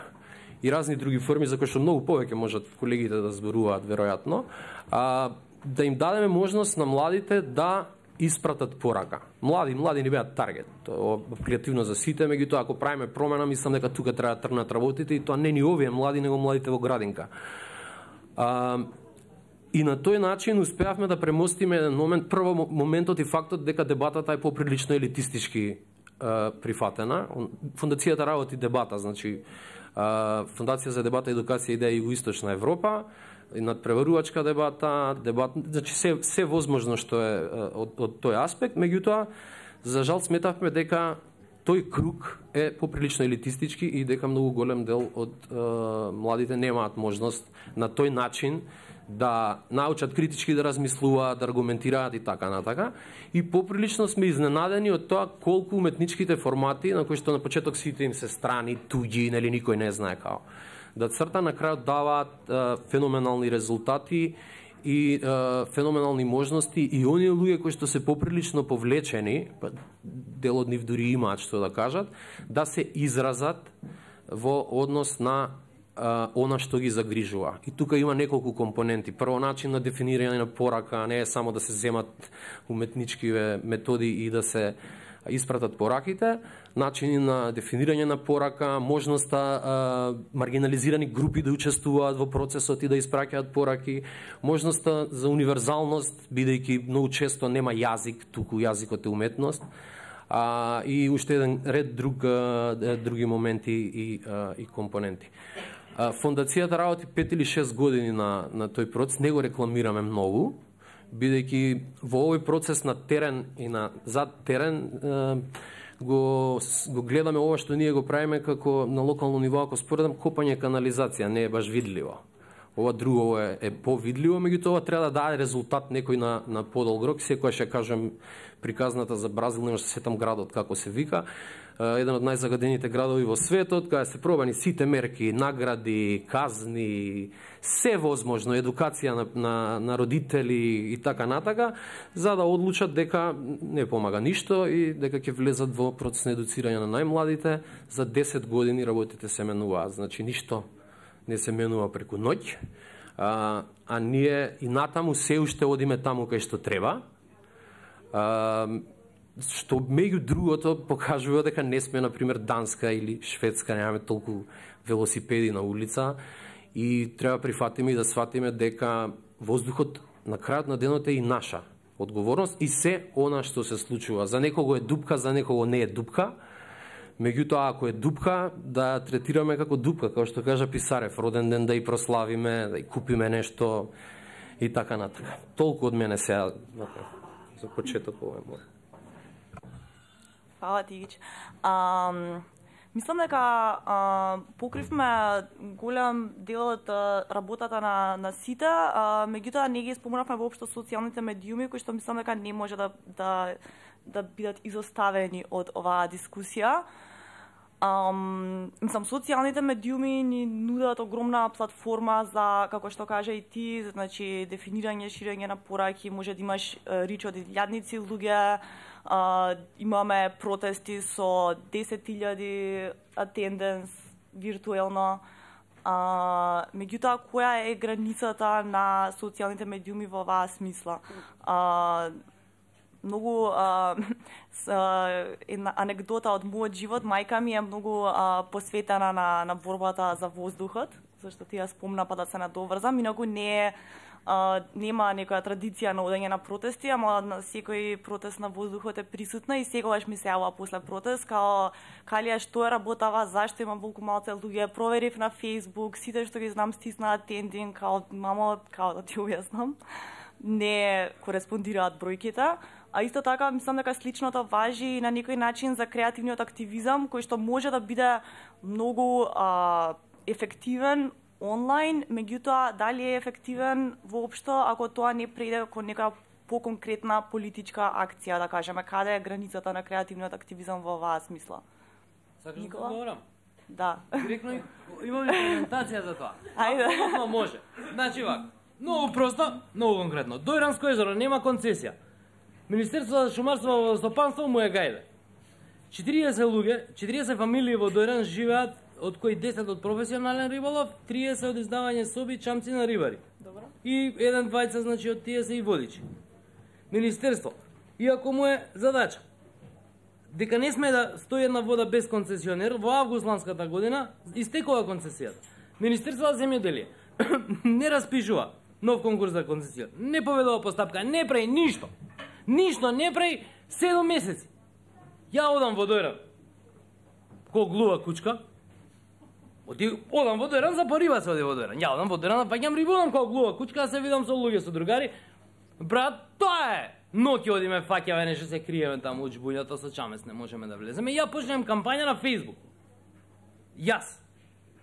и разни други форми за кои што многу повеќе можат колегите да зборуваат веројатно, а, да им дадеме можност на младите да испратат порака. Млади, млади не беат таргет. Тоа креативно за сите, меѓутоа ако правиме промена, мислам дека тука треба да тргнат работите и тоа не ни овие млади, него младите во градинка. А, и на тој начин успеавме да премостиме еден момент, прво моментот и фактот дека дебатата е поприлично елитистички а, прифатена. Фондацијата работи дебата, значи а, Фондација за дебата, едукација и идеја Југоисточна Европа, и надпреварувачка дебата, дебат, значи се се возможно што е од, од тој аспект, меѓутоа за жал сметавме дека тој круг е поприлично елитистички и дека многу голем дел од е, младите немаат можност на тој начин да научат критички да размислуваат, да аргументираат и така натака. И поприлично сме изненадени од тоа колку уметничките формати на кои што на почеток сите им се страни, туѓи, нели никој не знае како да црта, на крајот даваат е, феноменални резултати и е, феноменални можности и оние луѓе кои што се поприлично повлечени, дел од нив дури имаат што да кажат, да се изразат во однос на е, она што ги загрижува. И тука има неколку компоненти. Прво, начин на дефинирање на порака, не е само да се земат уметнички методи и да се испратат пораките, начини на дефинирање на порака, можноста а, маргинализирани групи да учествуваат во процесот и да испраќаат пораки, можноста за универзалност, бидејќи многу често нема јазик, туку јазикот е уметност, а, и уште еден ред друг, а, други моменти и, а, и компоненти. А, фондацијата работи пет или шест години на, на тој процес, не го рекламираме многу, бидејќи во овој процес на терен и на зад терен го, го гледаме ова што ние го правиме како на локално ниво, ако споредам копање канализација, не е баш видливо. Ова друго е, е повидливо, меѓутоа треба да даде резултат некој на, на подолг рок. Секојаш ќе кажам приказната за Бразил, не може да се сетам градот како се вика, еден од најзагадените градови во светот, каде се пробани сите мерки, награди, казни, се возможно, едукација на, на, на родители и така натака, за да одлучат дека не помага ништо и дека ќе влезат во процес на едуцирање на најмладите. За десет години работите се менуваат, значи ништо не се менува преку ноќ, а, а ние и натаму се уште одиме таму кај што треба, а, што меѓу другото покажува дека не сме, например, Данска или Шведска, немаме толку велосипеди на улица и треба прифатиме и да сватиме дека воздухот на крајот на денот е и наша одговорност и се она што се случува. За некого е дупка, за некого не е дупка. Меѓутоа, ако е дупка, да третираме како дупка, како што кажа Писарев, роден ден да и прославиме, да и купиме нешто и така натака. Толку од мене сега за почеток ова е мој. Фала ти, Гич. Um... Мислам дека а, покривме голем дел од работата на, на сите, а, меѓутоа не ги спомнавме воопшто социјалните медиуми, кои што мислам дека не може да, да, да бидат изоставени од оваа дискусија. Um, мислам, социјалните медиуми ни нудат огромна платформа за, како што кажа и ти, значи дефинирање, ширење на пораки, може да имаш рич од илјадници луѓе. Uh, имаме протести со десет илјади атенденс виртуелно. Uh, меѓутоа, која е границата на социјалните медиуми во оваа смисла? Uh, многу uh, една анекдота од мојот живот, мајка ми е многу uh, посветена на, на борбата за воздухот, зашто ти ја спомна па да се надоврзам, инаку не е Uh, нема некоја традиција на одење на протести, ама на секој протест на воздухот е присутна и секогаш ми се јавува после протест, као Калија, што е работава, зашто има волку малце луѓе, проверив на Facebook, сите што ги знам стиснаат тендинг, као мамо, као да ти објаснам, не кореспондираат бројките. А исто така, мислам дека сличното важи на некој начин за креативниот активизам, кој што може да биде многу uh, ефективен онлайн, меѓутоа дали е ефективен воопшто ако тоа не преиде кон некоја поконкретна политичка акција, да кажеме, каде е границата на креативниот активизам во оваа смисла? Сакаш да говорам? Да. Директно имам имплементација за тоа. Ајде. Апsolutно може. Значи вак, многу просто, многу конкретно. Дојранско езеро нема концесија. Министерството за шумарство и водостопанство му е гајде. четириесет луѓе, четириесет фамилии во Дојран живеат, од кои десет од професионален риболов, триесет од издавање соби чамци на рибари. Добро. И еден двајца, значи од тие се и водичи. Министерство, иако му е задача дека не сме да стои една вода без концесионер, во август ланската година истекува концесијата. Министерство за земјоделие не распишува нов конкурс за концесија, не поведува постапка, не прави ништо. Ништо не прави седум месеци. Ја одам во Дојран, ко глува кучка, оди, одам во Дојран, за пориба се оди во Дојран. Ја одам во Дојран, да паѓам рибудам ко глува кучка, да се видам со луѓе, со другари. Брат, тоа е! Ноќи одиме, фаќаве, нешто се криеме таму у џбуњата, со чамес не можеме да влеземе. Ја почнем кампања на Фејсбук. Јас.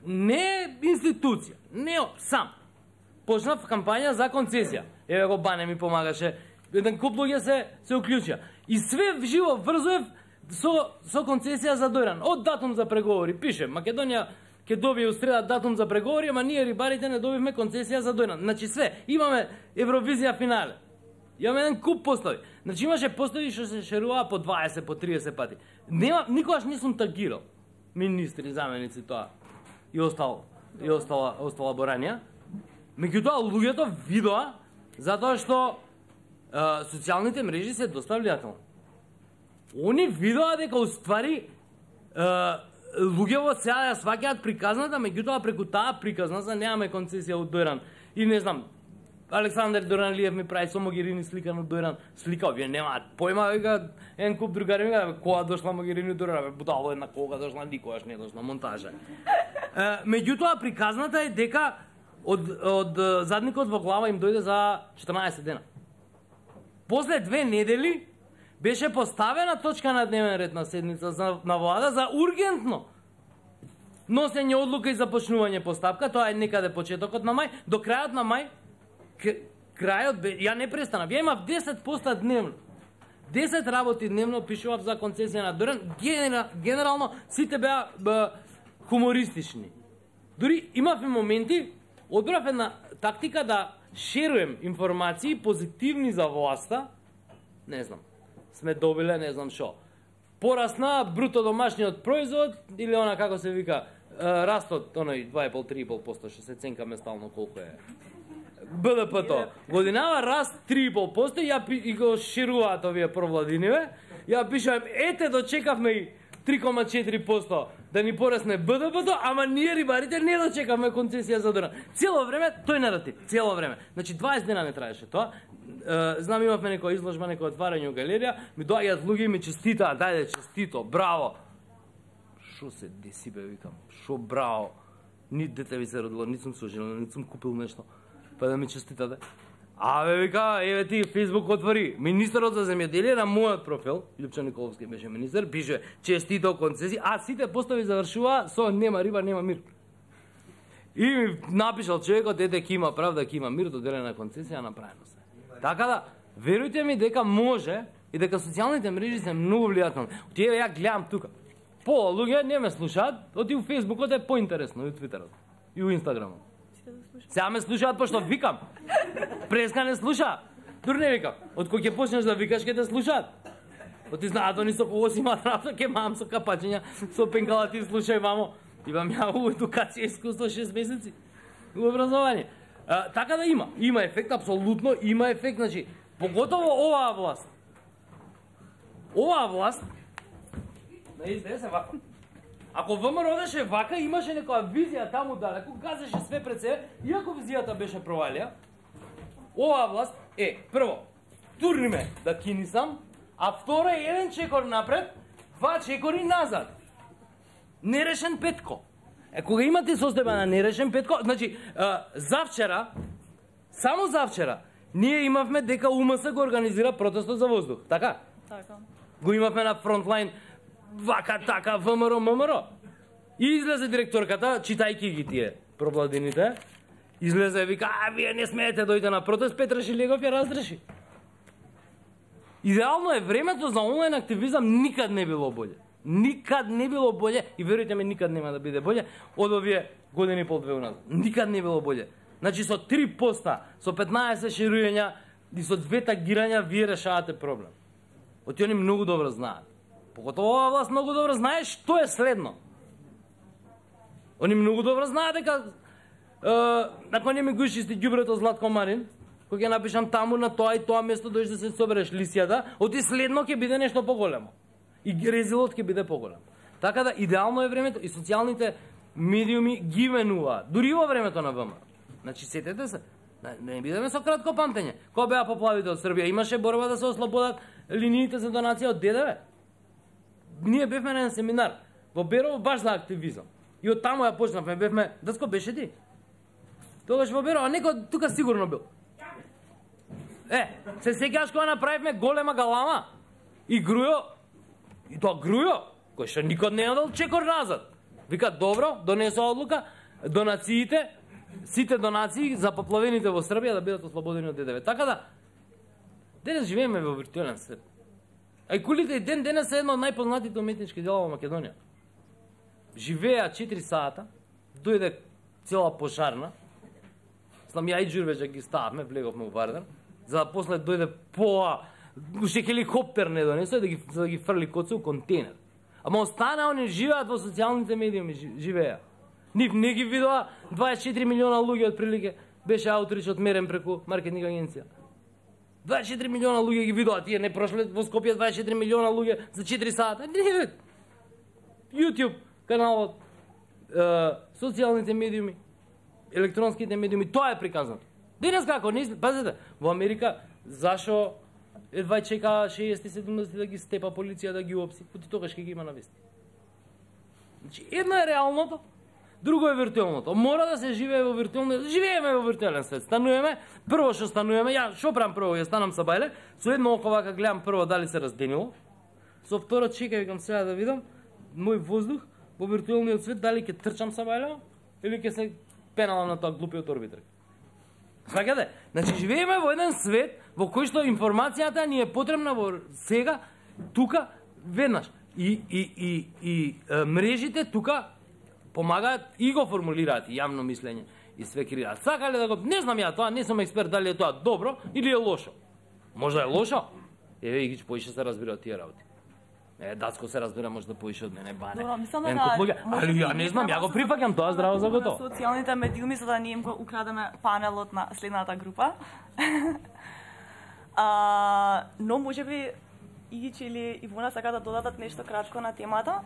Не институција, не сам. Почнав кампања за концесија. Еве го Бане ми помагаше. Еден куп луѓе се се уклучија. И све живо врзуев со со концесија за Дојран. Од датум за преговори пише Македонија ќе добие у среда датум за преговори, ама ние рибарите не добивме концесија за Дојран. Значи све, имаме Евровизија финале. Имаме еден куп постои. Значи имаше постои што се шеруваа по дваесет, по триесет пати. Нема, никогаш не сум тагирал министри, заменици тоа и остало, и остала, остала боранија. Меѓутоа луѓето видоа затоа што е, социјалните мрежи се доста влијателни. Они видоа дека уствари е, луѓето сега ја сваќаат приказната, меѓутоа преку таа приказна немаме концесија од Дојран. И не знам, Александар Доранлиев ми прави со Могерини слика на Дојран. Слика, вие немаат појма, вика, еден куп другари ми кажа, кога дошла Могерини Дојран, будало една кога дошла, никогаш не дошла, монтажа. Е, меѓутоа приказната е дека од, од задникот во глава им дојде за четрнаесет дена. После две недели беше поставена точка на дневен ред на седница за, на влада за ургентно носење одлука и започнување постапка. Тоа е некаде почетокот на мај, до крајот на мај. Крајот бе, ја не престанав. Ја имав десет поста дневно. десет работи дневно пишував за концесија на Дојран. Генера, генерално сите беа бе, хумористични. Дури имав и моменти, одбрав една тактика да шеруем информации позитивни за власта. Не знам. Сме добиле, не знам шо. Порасна бруто домашниот производ или она како се вика, растот, оној два и пол до три и пол поsto што се ценкаме стално колку е. Б Д П-то. Годинава раст три и пол поsto, ја пи, и го шируваат овие провладиниве. Ја пишувам, ете дочекавме и три и четири поsto да ни порасне Б Д П-то, ама ние рибарите не дочекавме концесија за Дојран. Цело време тој наратив, цело време. Значи дваесет дена не траеше тоа. Uh, знам, имавме некоја изложба, некој отварање у галерија, ми доаѓаат луѓе и ми честитаат, дајде честито, браво. Шо се деси бе, викам, шо браво. Ни дете ви се родило, ни сум соженил, ни сум купил нешто, па да ми честитате. А бе, вика, еве ти Фејсбук отвори, министерот за земјоделие на мојот профил, Лјупчо Николовски беше министер, пише честито концесија, а сите постови завршува со нема риба, нема мир. И ми напишал човекот, ете ки има правда, ки има мир, доделена концесија, направено се. Така да, верујте ми дека може и дека социјалните мрежи се многу влијателни. Тие ја гледам тука. Пола луѓе не ме слушаат, оти у Фејсбукот е поинтересно, и у Твитерот, и у Инстаграмот. Сега ме слушаат пошто викам. Преска не слуша. Дури не викам. Од кој ќе почнеш да викаш ќе те слушаат. Оти знаат они со кого си имаат работа, ќе мам со капачења, со пенкалати слушај мамо. Имам ја у едукација искуство шест месеци. У образование. А, така да има, има ефект, апсолутно има ефект, значи, поготово оваа власт. Оваа власт, да изде се вака. Ако ВМРО одеше вака, имаше некоја визија таму далеку, газеше све пред себе, иако визијата беше провалија, оваа власт е, прво, турни ме да кинисам, а второ е еден чекор напред, два чекори назад. Нерешен петко. Е, кога имате состојба на нерешен петко, значи, а, завчера, само завчера, ние имавме дека У М С го организира протестот за воздух, така? Така. Го имавме на фронтлайн, вака, така, ВМРО, ВМРО. И излезе директорката, читајки ги тие пробладините, излезе и вика, а, вие не смеете дојде на протест, Петра Шилегов ја разреши. Идеално е времето за онлайн активизам, никад не било боле. Никад не било боле и верујте ме, никад нема да биде боле од овие години и пол две уназад. Никад не било боле. Значи со три поста, со петнаесет шируња и со две тагирања вие решавате проблем. Оти они многу добро знаат. Поготово оваа власт многу добро знае што е следно. Они многу добро знаат дека након не ми го чисти ѓубрето Златко Марин, кој ќе напишам таму на тоа и тоа место дојдеш да се собереш лисијата, оти следно ќе биде нешто поголемо. И резилот ќе биде поголем. Така да идеално е времето и социјалните медиуми ги менуваат, дури во времето на ВМР. Значи сетете се, не бидеме со кратко памтење. Кога беа поплавите од Србија, имаше борба да се ослободат линиите за донација од ДДВ. Ние бевме на еден семинар во Берово баш за активизам. И од таму ја почнавме, бевме, Дацко беше ти? Тогаш во Берово, а некој тука сигурно бил. Е, се сеќаваш кога направивме голема галама и Грујо, и тоа Грујо, кој што никод не е дал чекор назад. Вика, добро, донесоа одлука, донациите, сите донации за поплавените во Србија да бидат ослободени од ДДВ. Така да, денес живееме во виртуелен свет. А и кулите и ден денес е едно од најпознатите уметнички дела во Македонија. Живеа четири сата, дојде цела пожарна, знам ја и Џурбеџа ги стававме, влеговме у Вардар, за да после дојде поа, уште хеликоптер не донесоа да ги, за да ги фрли коце у контейнер. Ама остана, они живеат во социјалните медиуми, живеа. Нив не ги видоа дваесет и четири милиона луѓе од прилике, беше аутрич одмерен преку маркетинг агенција. дваесет и четири милиона луѓе ги видоа, тие не прошле во Скопје дваесет и четири милиона луѓе за четири сата. Не, YouTube каналот, е, социјалните медиуми, електронските медиуми, тоа е приказано. Денес како не, пазете, во Америка зашо едва чека шеесет и седумдесет да ги степа полиција да ги опси, поти тогаш ќе ги има на вести. Значи, едно е реалното, друго е виртуелното. Мора да се живее во виртуелно, живееме во виртуелен свет. Стануваме, прво што стануваме, ја што правам прво, ја станам са бајле, со едно око вака гледам прво дали се разденило, со второ чекај викам сега да видам мој воздух во виртуелниот свет дали ќе трчам са бајле или ќе се пеналам на тоа глупиот орбитер. Сваќате? Значи живееме во еден свет во кој што информацијата ни е потребна во сега, тука, веднаш. И, и, и, и е, мрежите тука помагаат и го формулираат и јавно мислење и све креираат. Сакале да го, не знам ја тоа, не сум експерт дали е тоа добро или е лошо. Можда е лошо? Еве Игич поише се разбира од тие работи. Е, Дацко се разбира може да поише од мене бане. Добро, мислам Ен да, куп луѓе, али ја не знам, ја го прифаќам тоа здраво за готово. Социјалните медиуми за да не им го украдеме панелот на следната група. а, но можеби Игич или Ивона сака да додадат нешто кратко на темата.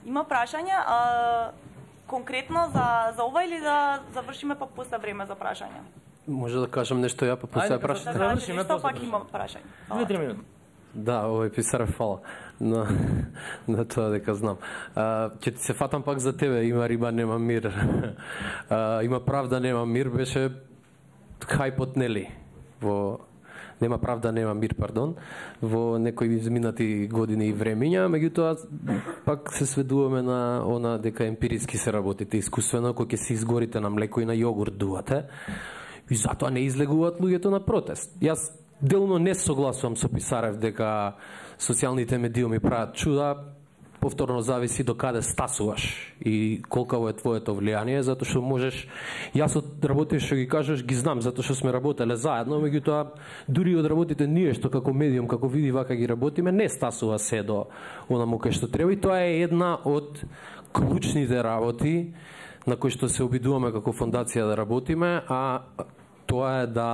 Има прашање, а, конкретно за, за ова или да завршиме па после време за прашање? Може да кажам нешто ја па после прашање. Да кажете нешто, пак има прашање. две-три минути. Да, овој Писарев фала на, на тоа дека знам. А, ќе ти се фатам пак за тебе, има риба, нема мир. А, има правда, нема мир, беше хајпот, нели? Во нема правда, нема мир, пардон, во некои изминати години и времиња, меѓутоа пак се сведуваме на она дека емпириски се работите искусствено, кој ќе се изгорите на млеко и на јогурт дувате, и затоа не излегуваат луѓето на протест. Јас делно не согласувам со Писарев дека социјалните медиуми прават чуда, повторно зависи до каде стасуваш и колкаво е твоето влијание, затоа што можеш, јас од работите што ги кажеш ги знам, затоа што сме работеле заедно, меѓутоа дури од работите ние што како медиум, како види вака ги работиме, не стасува се до онаму кај што треба и тоа е една од клучните работи на кои што се обидуваме како фондација да работиме, а тоа е да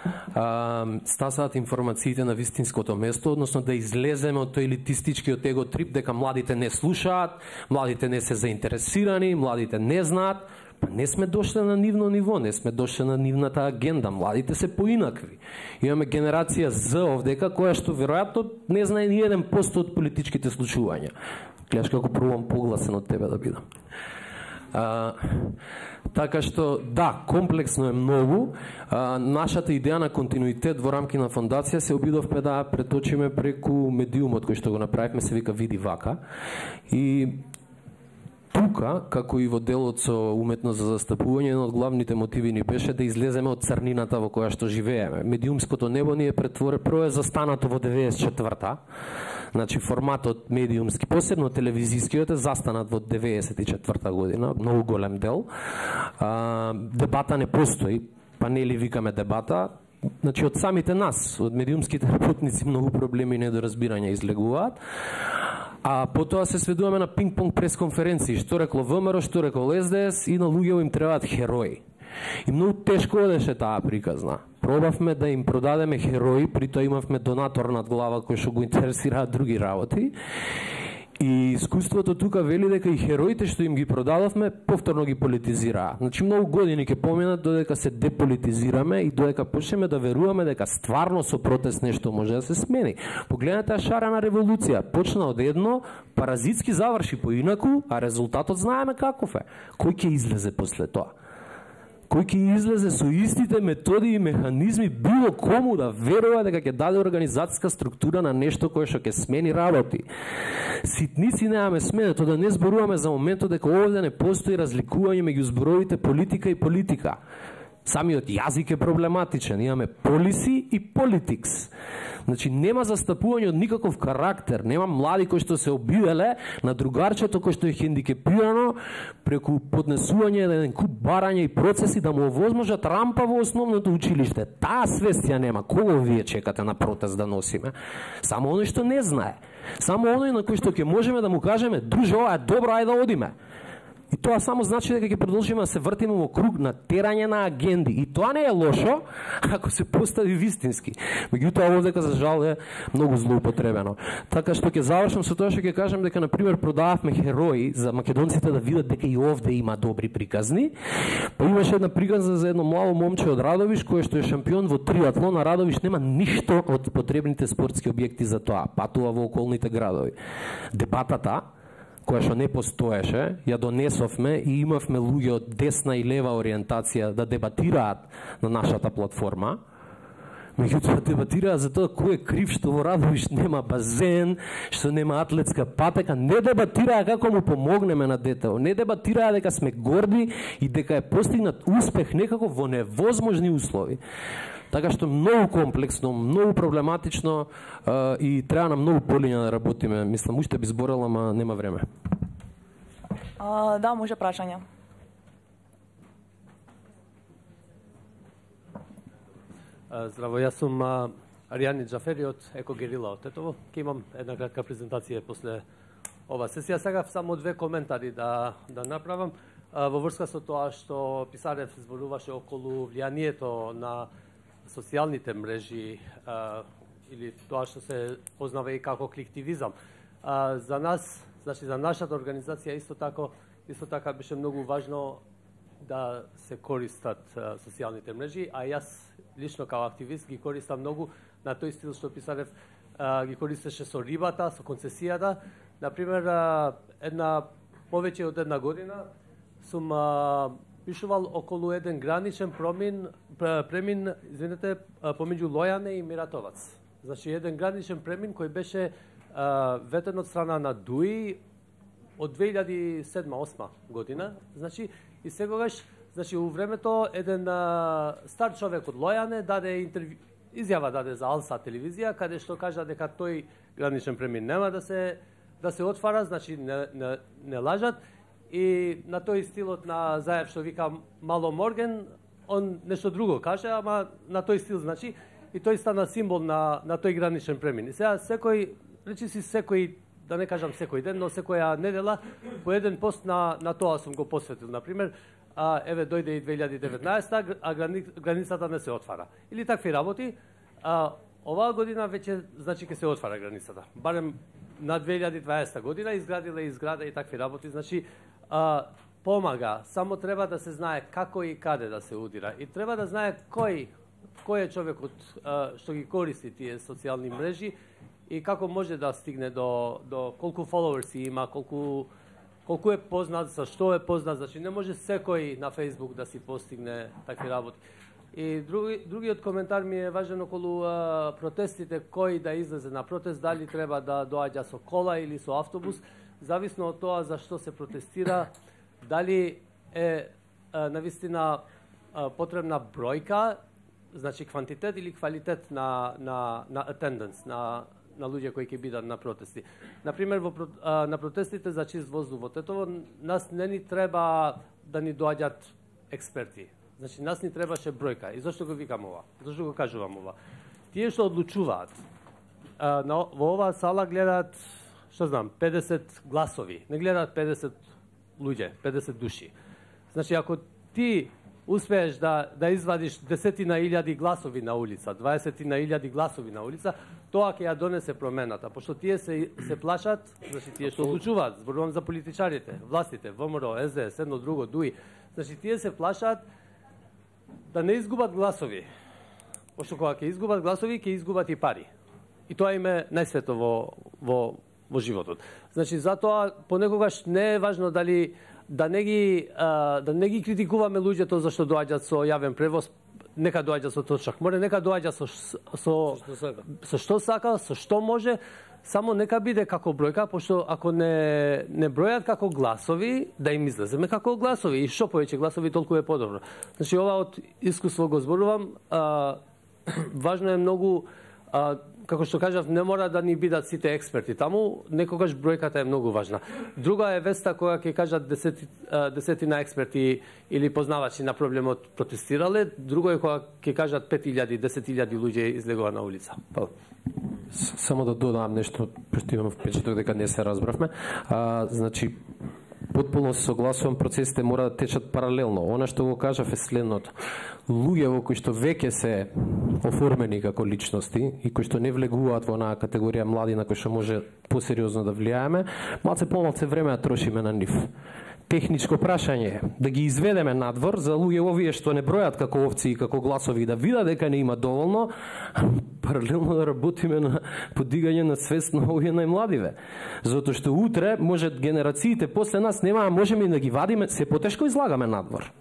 Uh, стасаат информациите на вистинското место, односно да излеземе од тој елитистичкиот его трип дека младите не слушаат, младите не се заинтересирани, младите не знаат. Па не сме дошли на нивно ниво, не сме дошли на нивната агенда. Младите се поинакви. Имаме генерација Z овдека која што веројатно не знае ни еден пост од политичките случувања. Гледаш како пробувам погласен од тебе да бидам. А, така што, да, комплексно е многу. А, нашата идеја на континуитет во рамки на фондација се обидовме да преточиме преку медиумот кој што го направивме, се вика Види вака. И тука тука, како и во делот со уметност за застапување, едно од главните мотиви ни беше да излеземе од црнината во која што живееме. Медиумското небо ни е претворе, прво е застанато во деветдесет и четврта. Значи форматот медиумски, посебно телевизискиот е застанат во деветдесет и четврта година, многу голем дел. А, дебата не постои, панели викаме дебата. Значи од самите нас, од медиумските работници, многу проблеми и недоразбирања излегуваат. А потоа се сведуваме на пинг-понг пресконференции, што рекло ВМРО, што рекло Ес Де Ес, и на луѓето им требаат херои. И многу тешко одеше таа приказна. Пробавме да им продадеме херои, при тоа имавме донатор над глава кој што го интересираат други работи. И искуството тука вели дека и хероите што им ги продадовме повторно ги политизираа. Значи многу години ќе поминат додека се деполитизираме и додека почнеме да веруваме дека стварно со протест нешто може да се смени. Погледнете шарена револуција, почна од едно, паразитски заврши поинаку, а резултатот знаеме каков е. Кој ќе излезе после тоа? Кој ќе излезе со истите методи и механизми било кому да верува дека ќе даде организацијска структура на нешто кое што ќе смени работи. Ситници немаме смена, тоа да не зборуваме за моментот дека овде не постои разликување меѓу зборовите политика и политика. Самиот јазик е проблематичен, имаме полиси и политикс. Значи нема застапување од никаков карактер, нема млади кои што се обиделе на другарчето кој што е хендикепирано преку поднесување на еден куп барања и процеси да му овозможат рампа во основното училиште. Таа свест ја нема. Кого вие чекате на протест да носиме? Само оној што не знае. Само оној на кој што ќе можеме да му кажеме: друже, ова е добро, ајде да одиме. И тоа само значи дека ќе продолжиме да се вртиме во круг на терање на агенди. И тоа не е лошо, ако се постави вистински. Меѓутоа, овдека за жал е многу злоупотребено. Така што ќе завршам со тоа што ќе кажам дека, например, продававме херои за македонците да видат дека и овде има добри приказни. Па имаше една приказна за едно младо момче од Радовиш, кое што е шампион во триатлон, а Радовиш нема ништо од потребните спортски објекти за тоа. Патува во околните градови. Дебатата која што не постоеше, ја донесовме и имавме луѓе од десна и лева ориентација да дебатираат на нашата платформа. Меѓутоа дебатираат за тоа кој е крив што во Радовиш нема базен, што нема атлетска патека. Не дебатираа како му помогнеме на детето. Не дебатираа дека сме горди и дека е постигнат успех некако во невозможни услови. Така што многу комплексно, многу проблематично uh, и треба на многу полиња да работиме. Мислам, уште би зборела, ама нема време. Uh, да, може прашање. Uh, здраво, јас сум uh, Аријани Џафери од Екогерила од Тетово. Ке имам една кратка презентација после ова сесија. Сега само две коментари да, да направам. Uh, во врска со тоа што Писарев зборуваше околу влијанието на социјалните мрежи а, или тоа што се познава и како кликтивизам. А, за нас, значи за нашата организација исто така, исто така беше многу важно да се користат а, социјалните мрежи, а јас лично како активист ги користам многу на тој стил што Писарев а, ги користеше со рибата, со концесијата. Например, а, една повеќе од една година сум а, пишувал околу еден граничен промин, премин, извинете, помеѓу Лојане и Миратовац. Значи, еден граничен премин кој беше а, ветен од страна на ДУИ од две илјади и седма осма година. Значи, и сегогаш, значи, у времето еден а, стар човек од Лојане даде интервју, изјава даде за Алса телевизија, каде што кажа дека тој граничен премин нема да се да се отвара, значи не, не, не лажат. И на тој стилот на Заев што вика Мало Морген, он нешто друго каже, ама на тој стил, значи, и тој стана символ на, на тој граничен премин. И сега секој, речи си секој, да не кажам секој ден, но секоја недела, по еден пост на, на тоа сум го посветил. Например, а, еве дојде и две илјади и деветнаесета, а грани, границата не се отвара. Или такви работи, а, оваа година веќе, значи, ќе се отвара границата. Барем на две илјади и дваесета година изградила и изграда и такви работи, значи, А, помага, само треба да се знае како и каде да се удира. И треба да знае кој, кој е човекот а, што ги користи тие социјални мрежи и како може да стигне до, до колку фоловерси има, колку, колку е познат, за што е познат. Значи не може секој на Facebook да си постигне такви работи. И други, другиот коментар ми е важен околу а, протестите, кој да излезе на протест, дали треба да доаѓа со кола или со автобус. зависно од тоа за што се протестира, дали е навистина потребна бројка, значи квантитет или квалитет на на на attendance, на на луѓе кои ќе бидат на протести. Например, во на протестите за чист воздух во Тетово, нас не ни треба да ни доаѓаат експерти. Значи, нас ни требаше бројка. И зашто го викам ова? Зашто го кажувам ова? Тие што одлучуваат, на, во оваа сала гледаат, што знам, педесет гласови. Не гледаат педесет луѓе, педесет души. Значи, ако ти успееш да, да извадиш десетина илјади гласови на улица, дваесетина илјади гласови на улица, тоа ќе ја донесе промената. Пошто тие се, се плашат, значи тие што одлучуваат, зборувам за политичарите, властите, ВМРО, С Д С, едно друго, ДУИ, значи тие се плашат да не изгубат гласови. Пошто кога ќе изгубат гласови, ќе изгубат и пари. И тоа им е најсвето во, во, во животот. Значи, затоа понекогаш не е важно дали да не ги а, да не ги критикуваме луѓето зашто доаѓаат со јавен превоз, нека доаѓа со точак. Море нека доаѓа со со Што сака. со што сака, со што може, само нека биде како бројка, пошто ако не не бројат како гласови, да им излеземе како гласови и што повеќе гласови толку е подобро. Значи ова од искуство го зборувам, а, важно е многу, а, како што кажав, не мора да ни бидат сите експерти таму, некогаш бројката е многу важна. Друга е веста кога ќе кажат десети, десетина експерти или познавачи на проблемот протестирале, друго е кога ќе кажат пет илјади, десет илјади луѓе излегува на улица. Па. Само да додам нешто, пошто имам впечаток дека не се разбравме. А, значи, потполно се согласувам, процесите мора да течат паралелно. Она што го кажав е следното. Луѓе во кои што веќе се оформени како личности и кои што не влегуваат во онаа категорија млади на кои што може посериозно да влијаеме, малце помалце време да трошиме на нив. Техничко прашање е да ги изведеме надвор за луѓе овие што не бројат како овци и како гласови, да видат дека не има доволно, паралелно да работиме на подигање на свест на овие најмладиве. Затоа што утре може генерациите после нас нема, можеме да ги вадиме, се потешко излагаме надвор.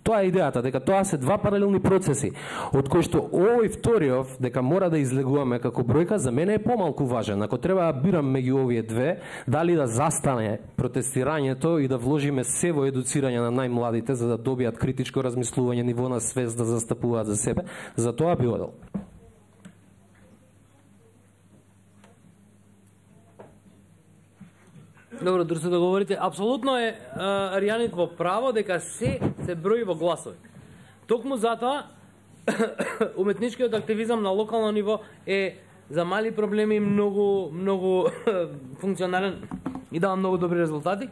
Тоа е идејата, дека тоа се два паралелни процеси, од кои што овој вториот, дека мора да излегуваме како бројка, за мене е помалку важен. Ако треба да бирам меѓу овие две, дали да застане протестирањето и да вложиме се во едуцирање на најмладите, за да добијат критичко размислување, ниво на свест да застапуваат за себе, за тоа би одел. Добро, друзо, да говорите, апсолутно е а, Аријанит во право дека се се брои во гласови. Токму затоа уметничкиот активизам на локално ниво е за мали проблеми многу многу функционален и дава многу добри резултати,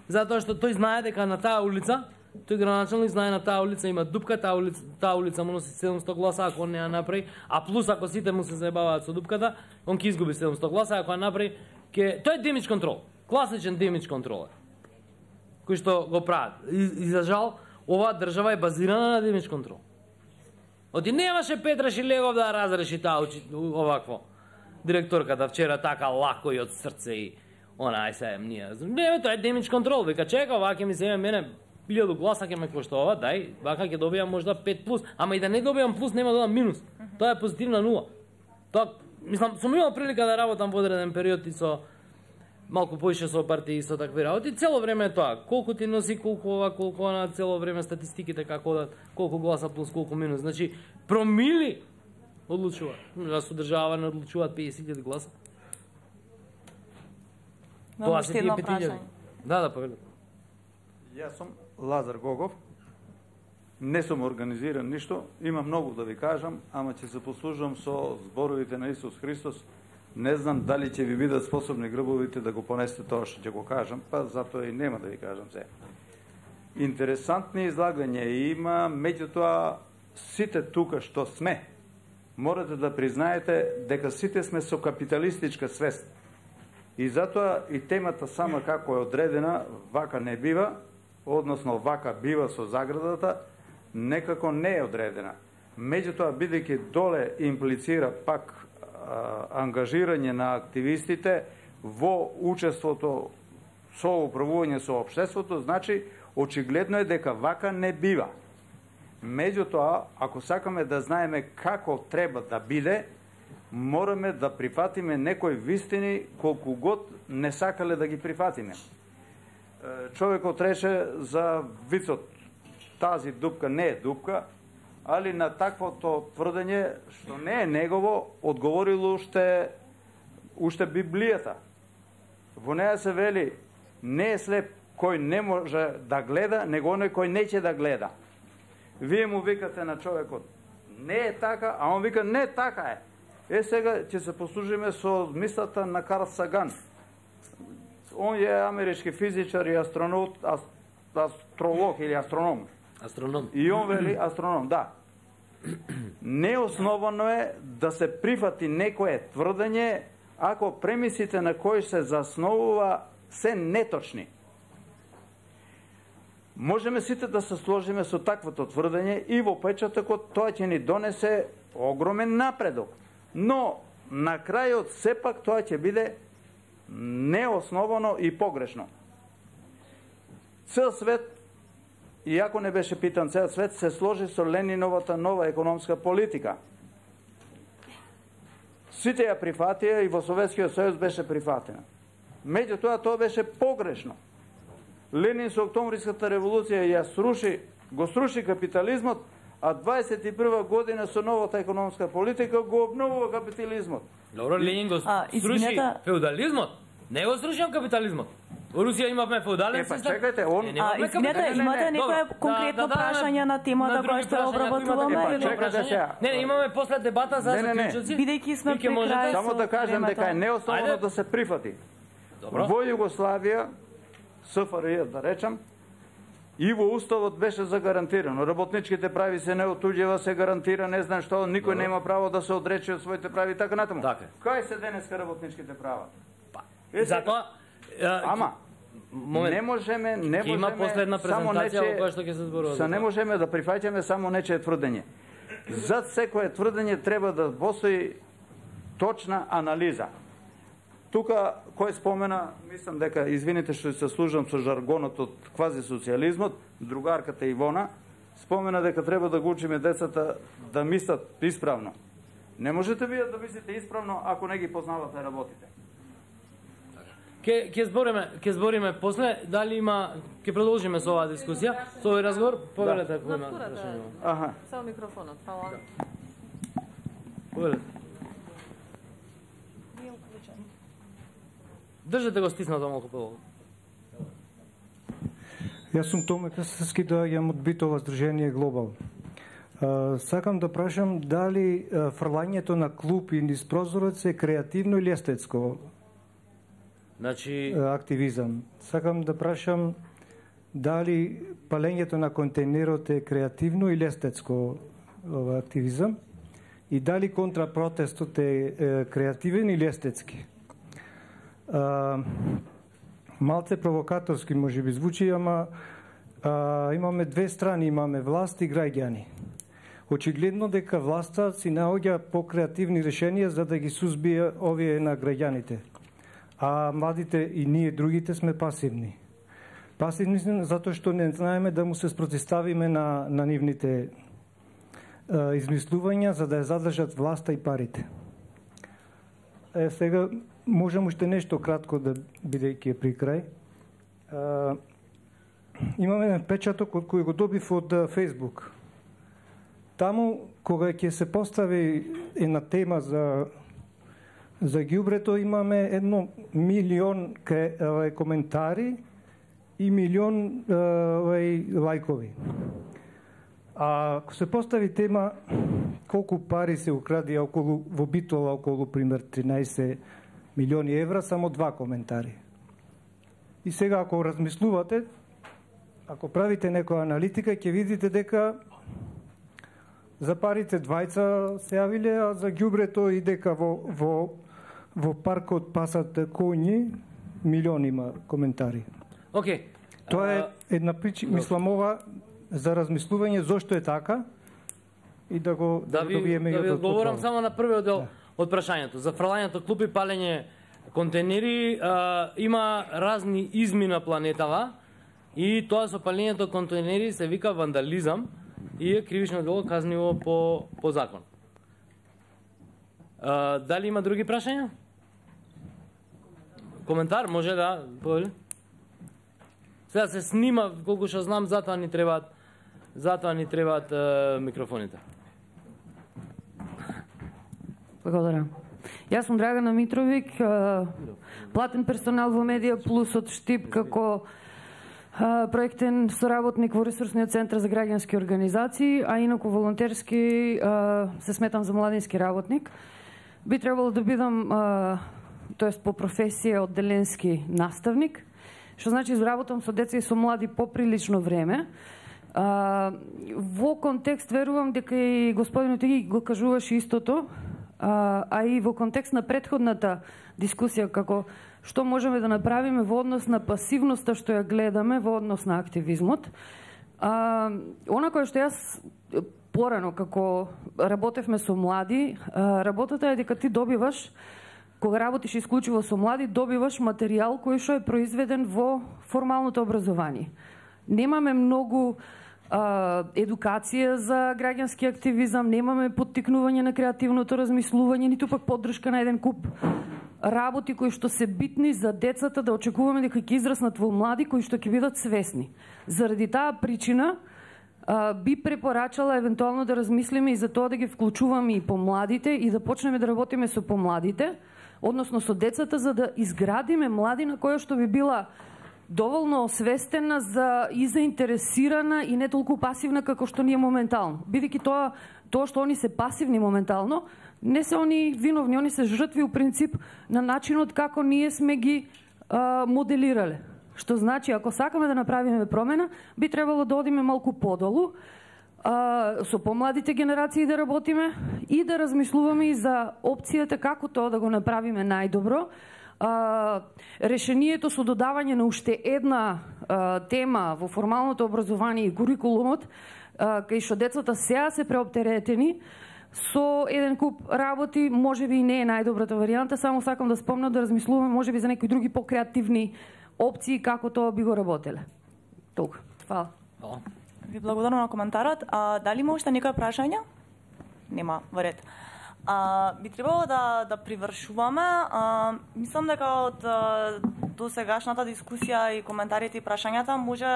затоа што тој знае дека на таа улица, тој граначалник знае на таа улица има дупка, таа улица, таа улица му носи седумсто гласа ако не ја направи, а плюс ако сите му се заебаваат со дупката, он ќе изгуби седумсто гласа, ако ја направи, ќе тој е демидж контрол. Класичен демидж контрол кој што го прават. И, и за жал, оваа држава е базирана на демидж контрол. Оти немаше Петра Шилегов да разреши таа овакво. Директорката вчера така лако и од срце и она ај се ние. Не, тоа е демидж контрол. Вика чека, ова ќе ми се мене илјаду гласа ќе ме кошта ова, дај, вака ќе добијам можда пет плюс, ама и да не добијам плюс нема да дадам минус. Тоа е позитивна нула. Тоа, мислам, сум имал прилика да работам во одреден период и со малку поише со партии и со такви работи, цело време е тоа. Колку ти носи, колку ова, колку она, цело време статистиките како да колку гласа плюс, колку минус. Значи, промили одлучуваат. Да со држава не одлучуваат песет илјади гласа. Тоа се тие пет илјади. Да, да, повели. Јас сум Лазар Гогов. Не сум организиран ништо, има многу да ви кажам, ама ќе се послужам со зборовите на Исус Христос. Не знам дали ќе ви бидат способни грбовите да го понесете тоа што ќе го кажам, па затоа и нема да ви кажам се. Интересантни излагања има, меѓутоа сите тука што сме, морате да признаете дека сите сме со капиталистичка свест. И затоа и темата сама како е одредена, вака не бива, односно вака бива со заградата, некако не е одредена. Меѓутоа, бидејќи доле имплицира пак ангажирање на активистите во учеството со управување со општеството, значи очигледно е дека вака не бива. Меѓутоа, ако сакаме да знаеме како треба да биде, мораме да прифатиме некои вистини колку год не сакале да ги прифатиме. Човекот рече за вицот, тази дупка не е дупка, али на таквото тврдење, што не е негово, одговорило уште, уште Библијата. Во неја се вели, не е слеп кој не може да гледа, него оној кој не ќе да гледа. Вие му викате на човекот, не е така, а он вика, не така е. Е, сега ќе се послужиме со мислата на Карл Саган. Он е амерички физичар и астронот, астролог или астроном. Астроном. И он вели астроном, да. Неосновано е да се прифати некое тврдење ако премисите на кои се засновува се неточни. Можеме сите да се сложиме со таквото тврдење и во печатокот тоа ќе ни донесе огромен напредок. Но на крајот сепак тоа ќе биде неосновано и погрешно. Цел свет, иако не беше питан цел свет, се сложи со Лениновата нова економска политика. Сите ја прифатија и во Советскиот сојуз беше прифатена. Меѓутоа, тоа беше погрешно. Ленин со Октомвриската револуција ја сруши, го сруши капитализмот, а дваесет и прва година со новата економска политика го обновува капитализмот. Добро, Ленин го А, сруши извинете. феудализмот, не го сруши капитализмот. Во Русија имавме феудален Е, па систем. чекајте, он- Не, А, немавме извинете, капитализм. имате некое Добро, конкретно да, да, прашање на темата на други која што прашања, ако имате обработуваме? конкретно Е, па, чекайте прашање. сега. Не, не, имаме после дебата за Не, не, не. заклучоци. Бидејќи сме И ќе при можете- крај Само да кажем дека е неосновано Ајде. да се прифати. Добро. Во Југославија, СФРЈ да речам, и во Уставот беше загарантирано. Работничките прави се неотуѓива, се гарантира, не знам што, никој нема право да се одрече од своите прави, така натаму. Така е. Кај се денеска работничките права? Е, Затоа а, Ама, момент. не можеме, не Ќе има можеме после една само презентација нечие- во која што ќе се зборува. Са не можеме да прифаќаме само нечие тврдење. Зад секое тврдење треба да постои точна анализа. Тука, кој спомена, мислам дека, извините што се служам со жаргонот од квази-социјализмот, другарката Ивона, спомена дека треба да го учиме децата да мислат исправно. Не можете вие да мислите исправно ако не ги познавате работите. Ке ќе збориме, ќе збориме после дали има, ќе продолжиме со оваа дискусија, со овој разговор, повелете ако има Натура, да. прашање. Аха. Само микрофонот, фала. Повелете. Држете го стиснато малку подолго. Јас сум Томе Касовски, доаѓам од Битола Сдружение Глобал. А, сакам да прашам дали а, фрлањето на клупи низ прозорец е креативно или естетско Значи, а, активизам. Сакам да прашам дали палењето на контейнерот е креативно или естетско ова, активизам и дали контрапротестот е, е креативен или естетски. А, малце провокаторски може би звучи, ама а, имаме две страни, имаме власт и граѓани. Очигледно дека власта си наоѓа по-креативни решенија за да ги сузбие овие на граѓаните. А младите и ние другите сме пасивни. Пасивни сме затоа што не знаеме да му се спротиставиме на, на нивните а, измислувања за да ја задржат власта и парите. Е, сега можам уште нешто кратко да бидејќи е при крај. А, имаме еден печаток од кој го добив од Фејсбук. Таму кога ќе се постави една тема за за ѓубрето имаме едно милион кре, коментари и милион е, лајкови. А ако се постави тема колку пари се укради околу во Битола околу пример тринаесет милиони евра, само два коментари. И сега ако размислувате, ако правите некоја аналитика, ќе видите дека за парите двајца се јавиле, а за ѓубрето и дека во, во, во паркот пасат коњи, милиони има коментари. окей. Тоа е А, една причина, мислам ова, за размислување зошто е така и да го Да ви, добиеме да ви од одговорам отговор. само на првиот дел од прашањето. За фрлањето клупи, палење контейнери, а, има разни изми на планетава и тоа со палењето контейнери се вика вандализам и е кривично дело казниво по, по закон. А, дали има други прашања? Коментар може да, повели? Сега се снима, колку што знам, затоа ни требаат затоа ни требаат е, микрофоните. Благодарам. Јас сум Драгана Митровик, платен персонал во Медија Плюс од Штип како проектен соработник во Ресурсниот центар за граѓански организации, а инаку волонтерски се сметам за младински работник. Би требало да бидам, тоест по професија, одделенски наставник, што значи работам со деца и со млади поприлично време. Во контекст верувам дека и господинот ти го кажуваше истото, а и во контекст на претходната дискусија како што можеме да направиме во однос на пасивноста што ја гледаме во однос на активизмот. А, она кое што јас порано како работевме со млади, а, работата е дека ти добиваш, кога работиш исклучиво со млади, добиваш материјал кој што е произведен во формалното образование. Немаме многу Uh, едукација за граѓански активизам, немаме поттикнување на креативното размислување, ниту пак поддршка на еден куп работи кои што се битни за децата, да очекуваме дека ќе израснат во млади кои што ќе бидат свесни. Заради таа причина uh, би препорачала евентуално да размислиме и за тоа да ги вклучуваме и помладите и да почнеме да работиме со помладите, односно со децата, за да изградиме младина која што би била доволно освестена за и заинтересирана и не толку пасивна како што ние моментално. Бидејќи тоа тоа што они се пасивни моментално, не се они виновни, они се жртви у принцип на начинот како ние сме ги а, моделирале. Што значи, ако сакаме да направиме промена, би требало да одиме малку подолу, а, со помладите генерации да работиме и да размислуваме и за опцијата како тоа да го направиме најдобро. Uh, решението со додавање на уште една uh, тема во формалното образование и курикулумот, uh, кај што децата сега се преоптеретени со еден куп работи, може би и не е најдобрата варијанта, само сакам да спомнам да размислуваме може би за некои други покреативни опции како тоа би го работеле. Толку. Фала. Ви благодарам на коментарот. А, дали има уште некои прашања? Нема, во ред. А, би требало да, да привршуваме. А, мислам дека од до сегашната дискусија и коментарите и прашањата може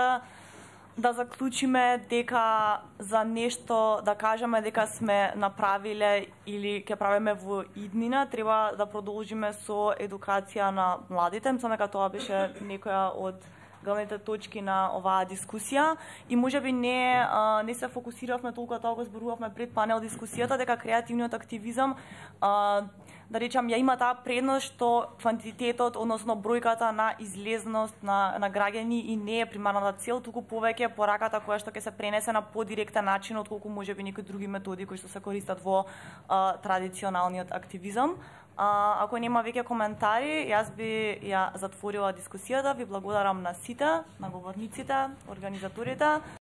да заклучиме дека за нешто да кажеме дека сме направиле или ќе правиме во иднина, треба да продолжиме со едукација на младите. Мислам дека тоа беше некоја од главните точки на оваа дискусија и можеби не а, не се фокусиравме толку тоа го зборувавме пред панел дискусијата дека креативниот активизам а, да речам ја има таа предност што квантитетот, односно бројката на излезност на на граѓани и не е примарната цел, туку повеќе пораката која што ќе се пренесе на подиректен начин отколку можеби некои други методи кои што се користат во а, традиционалниот активизам. А, ако нема веќе коментари, јас би ја затворила дискусијата. Ви благодарам на сите, на говорниците, организаторите.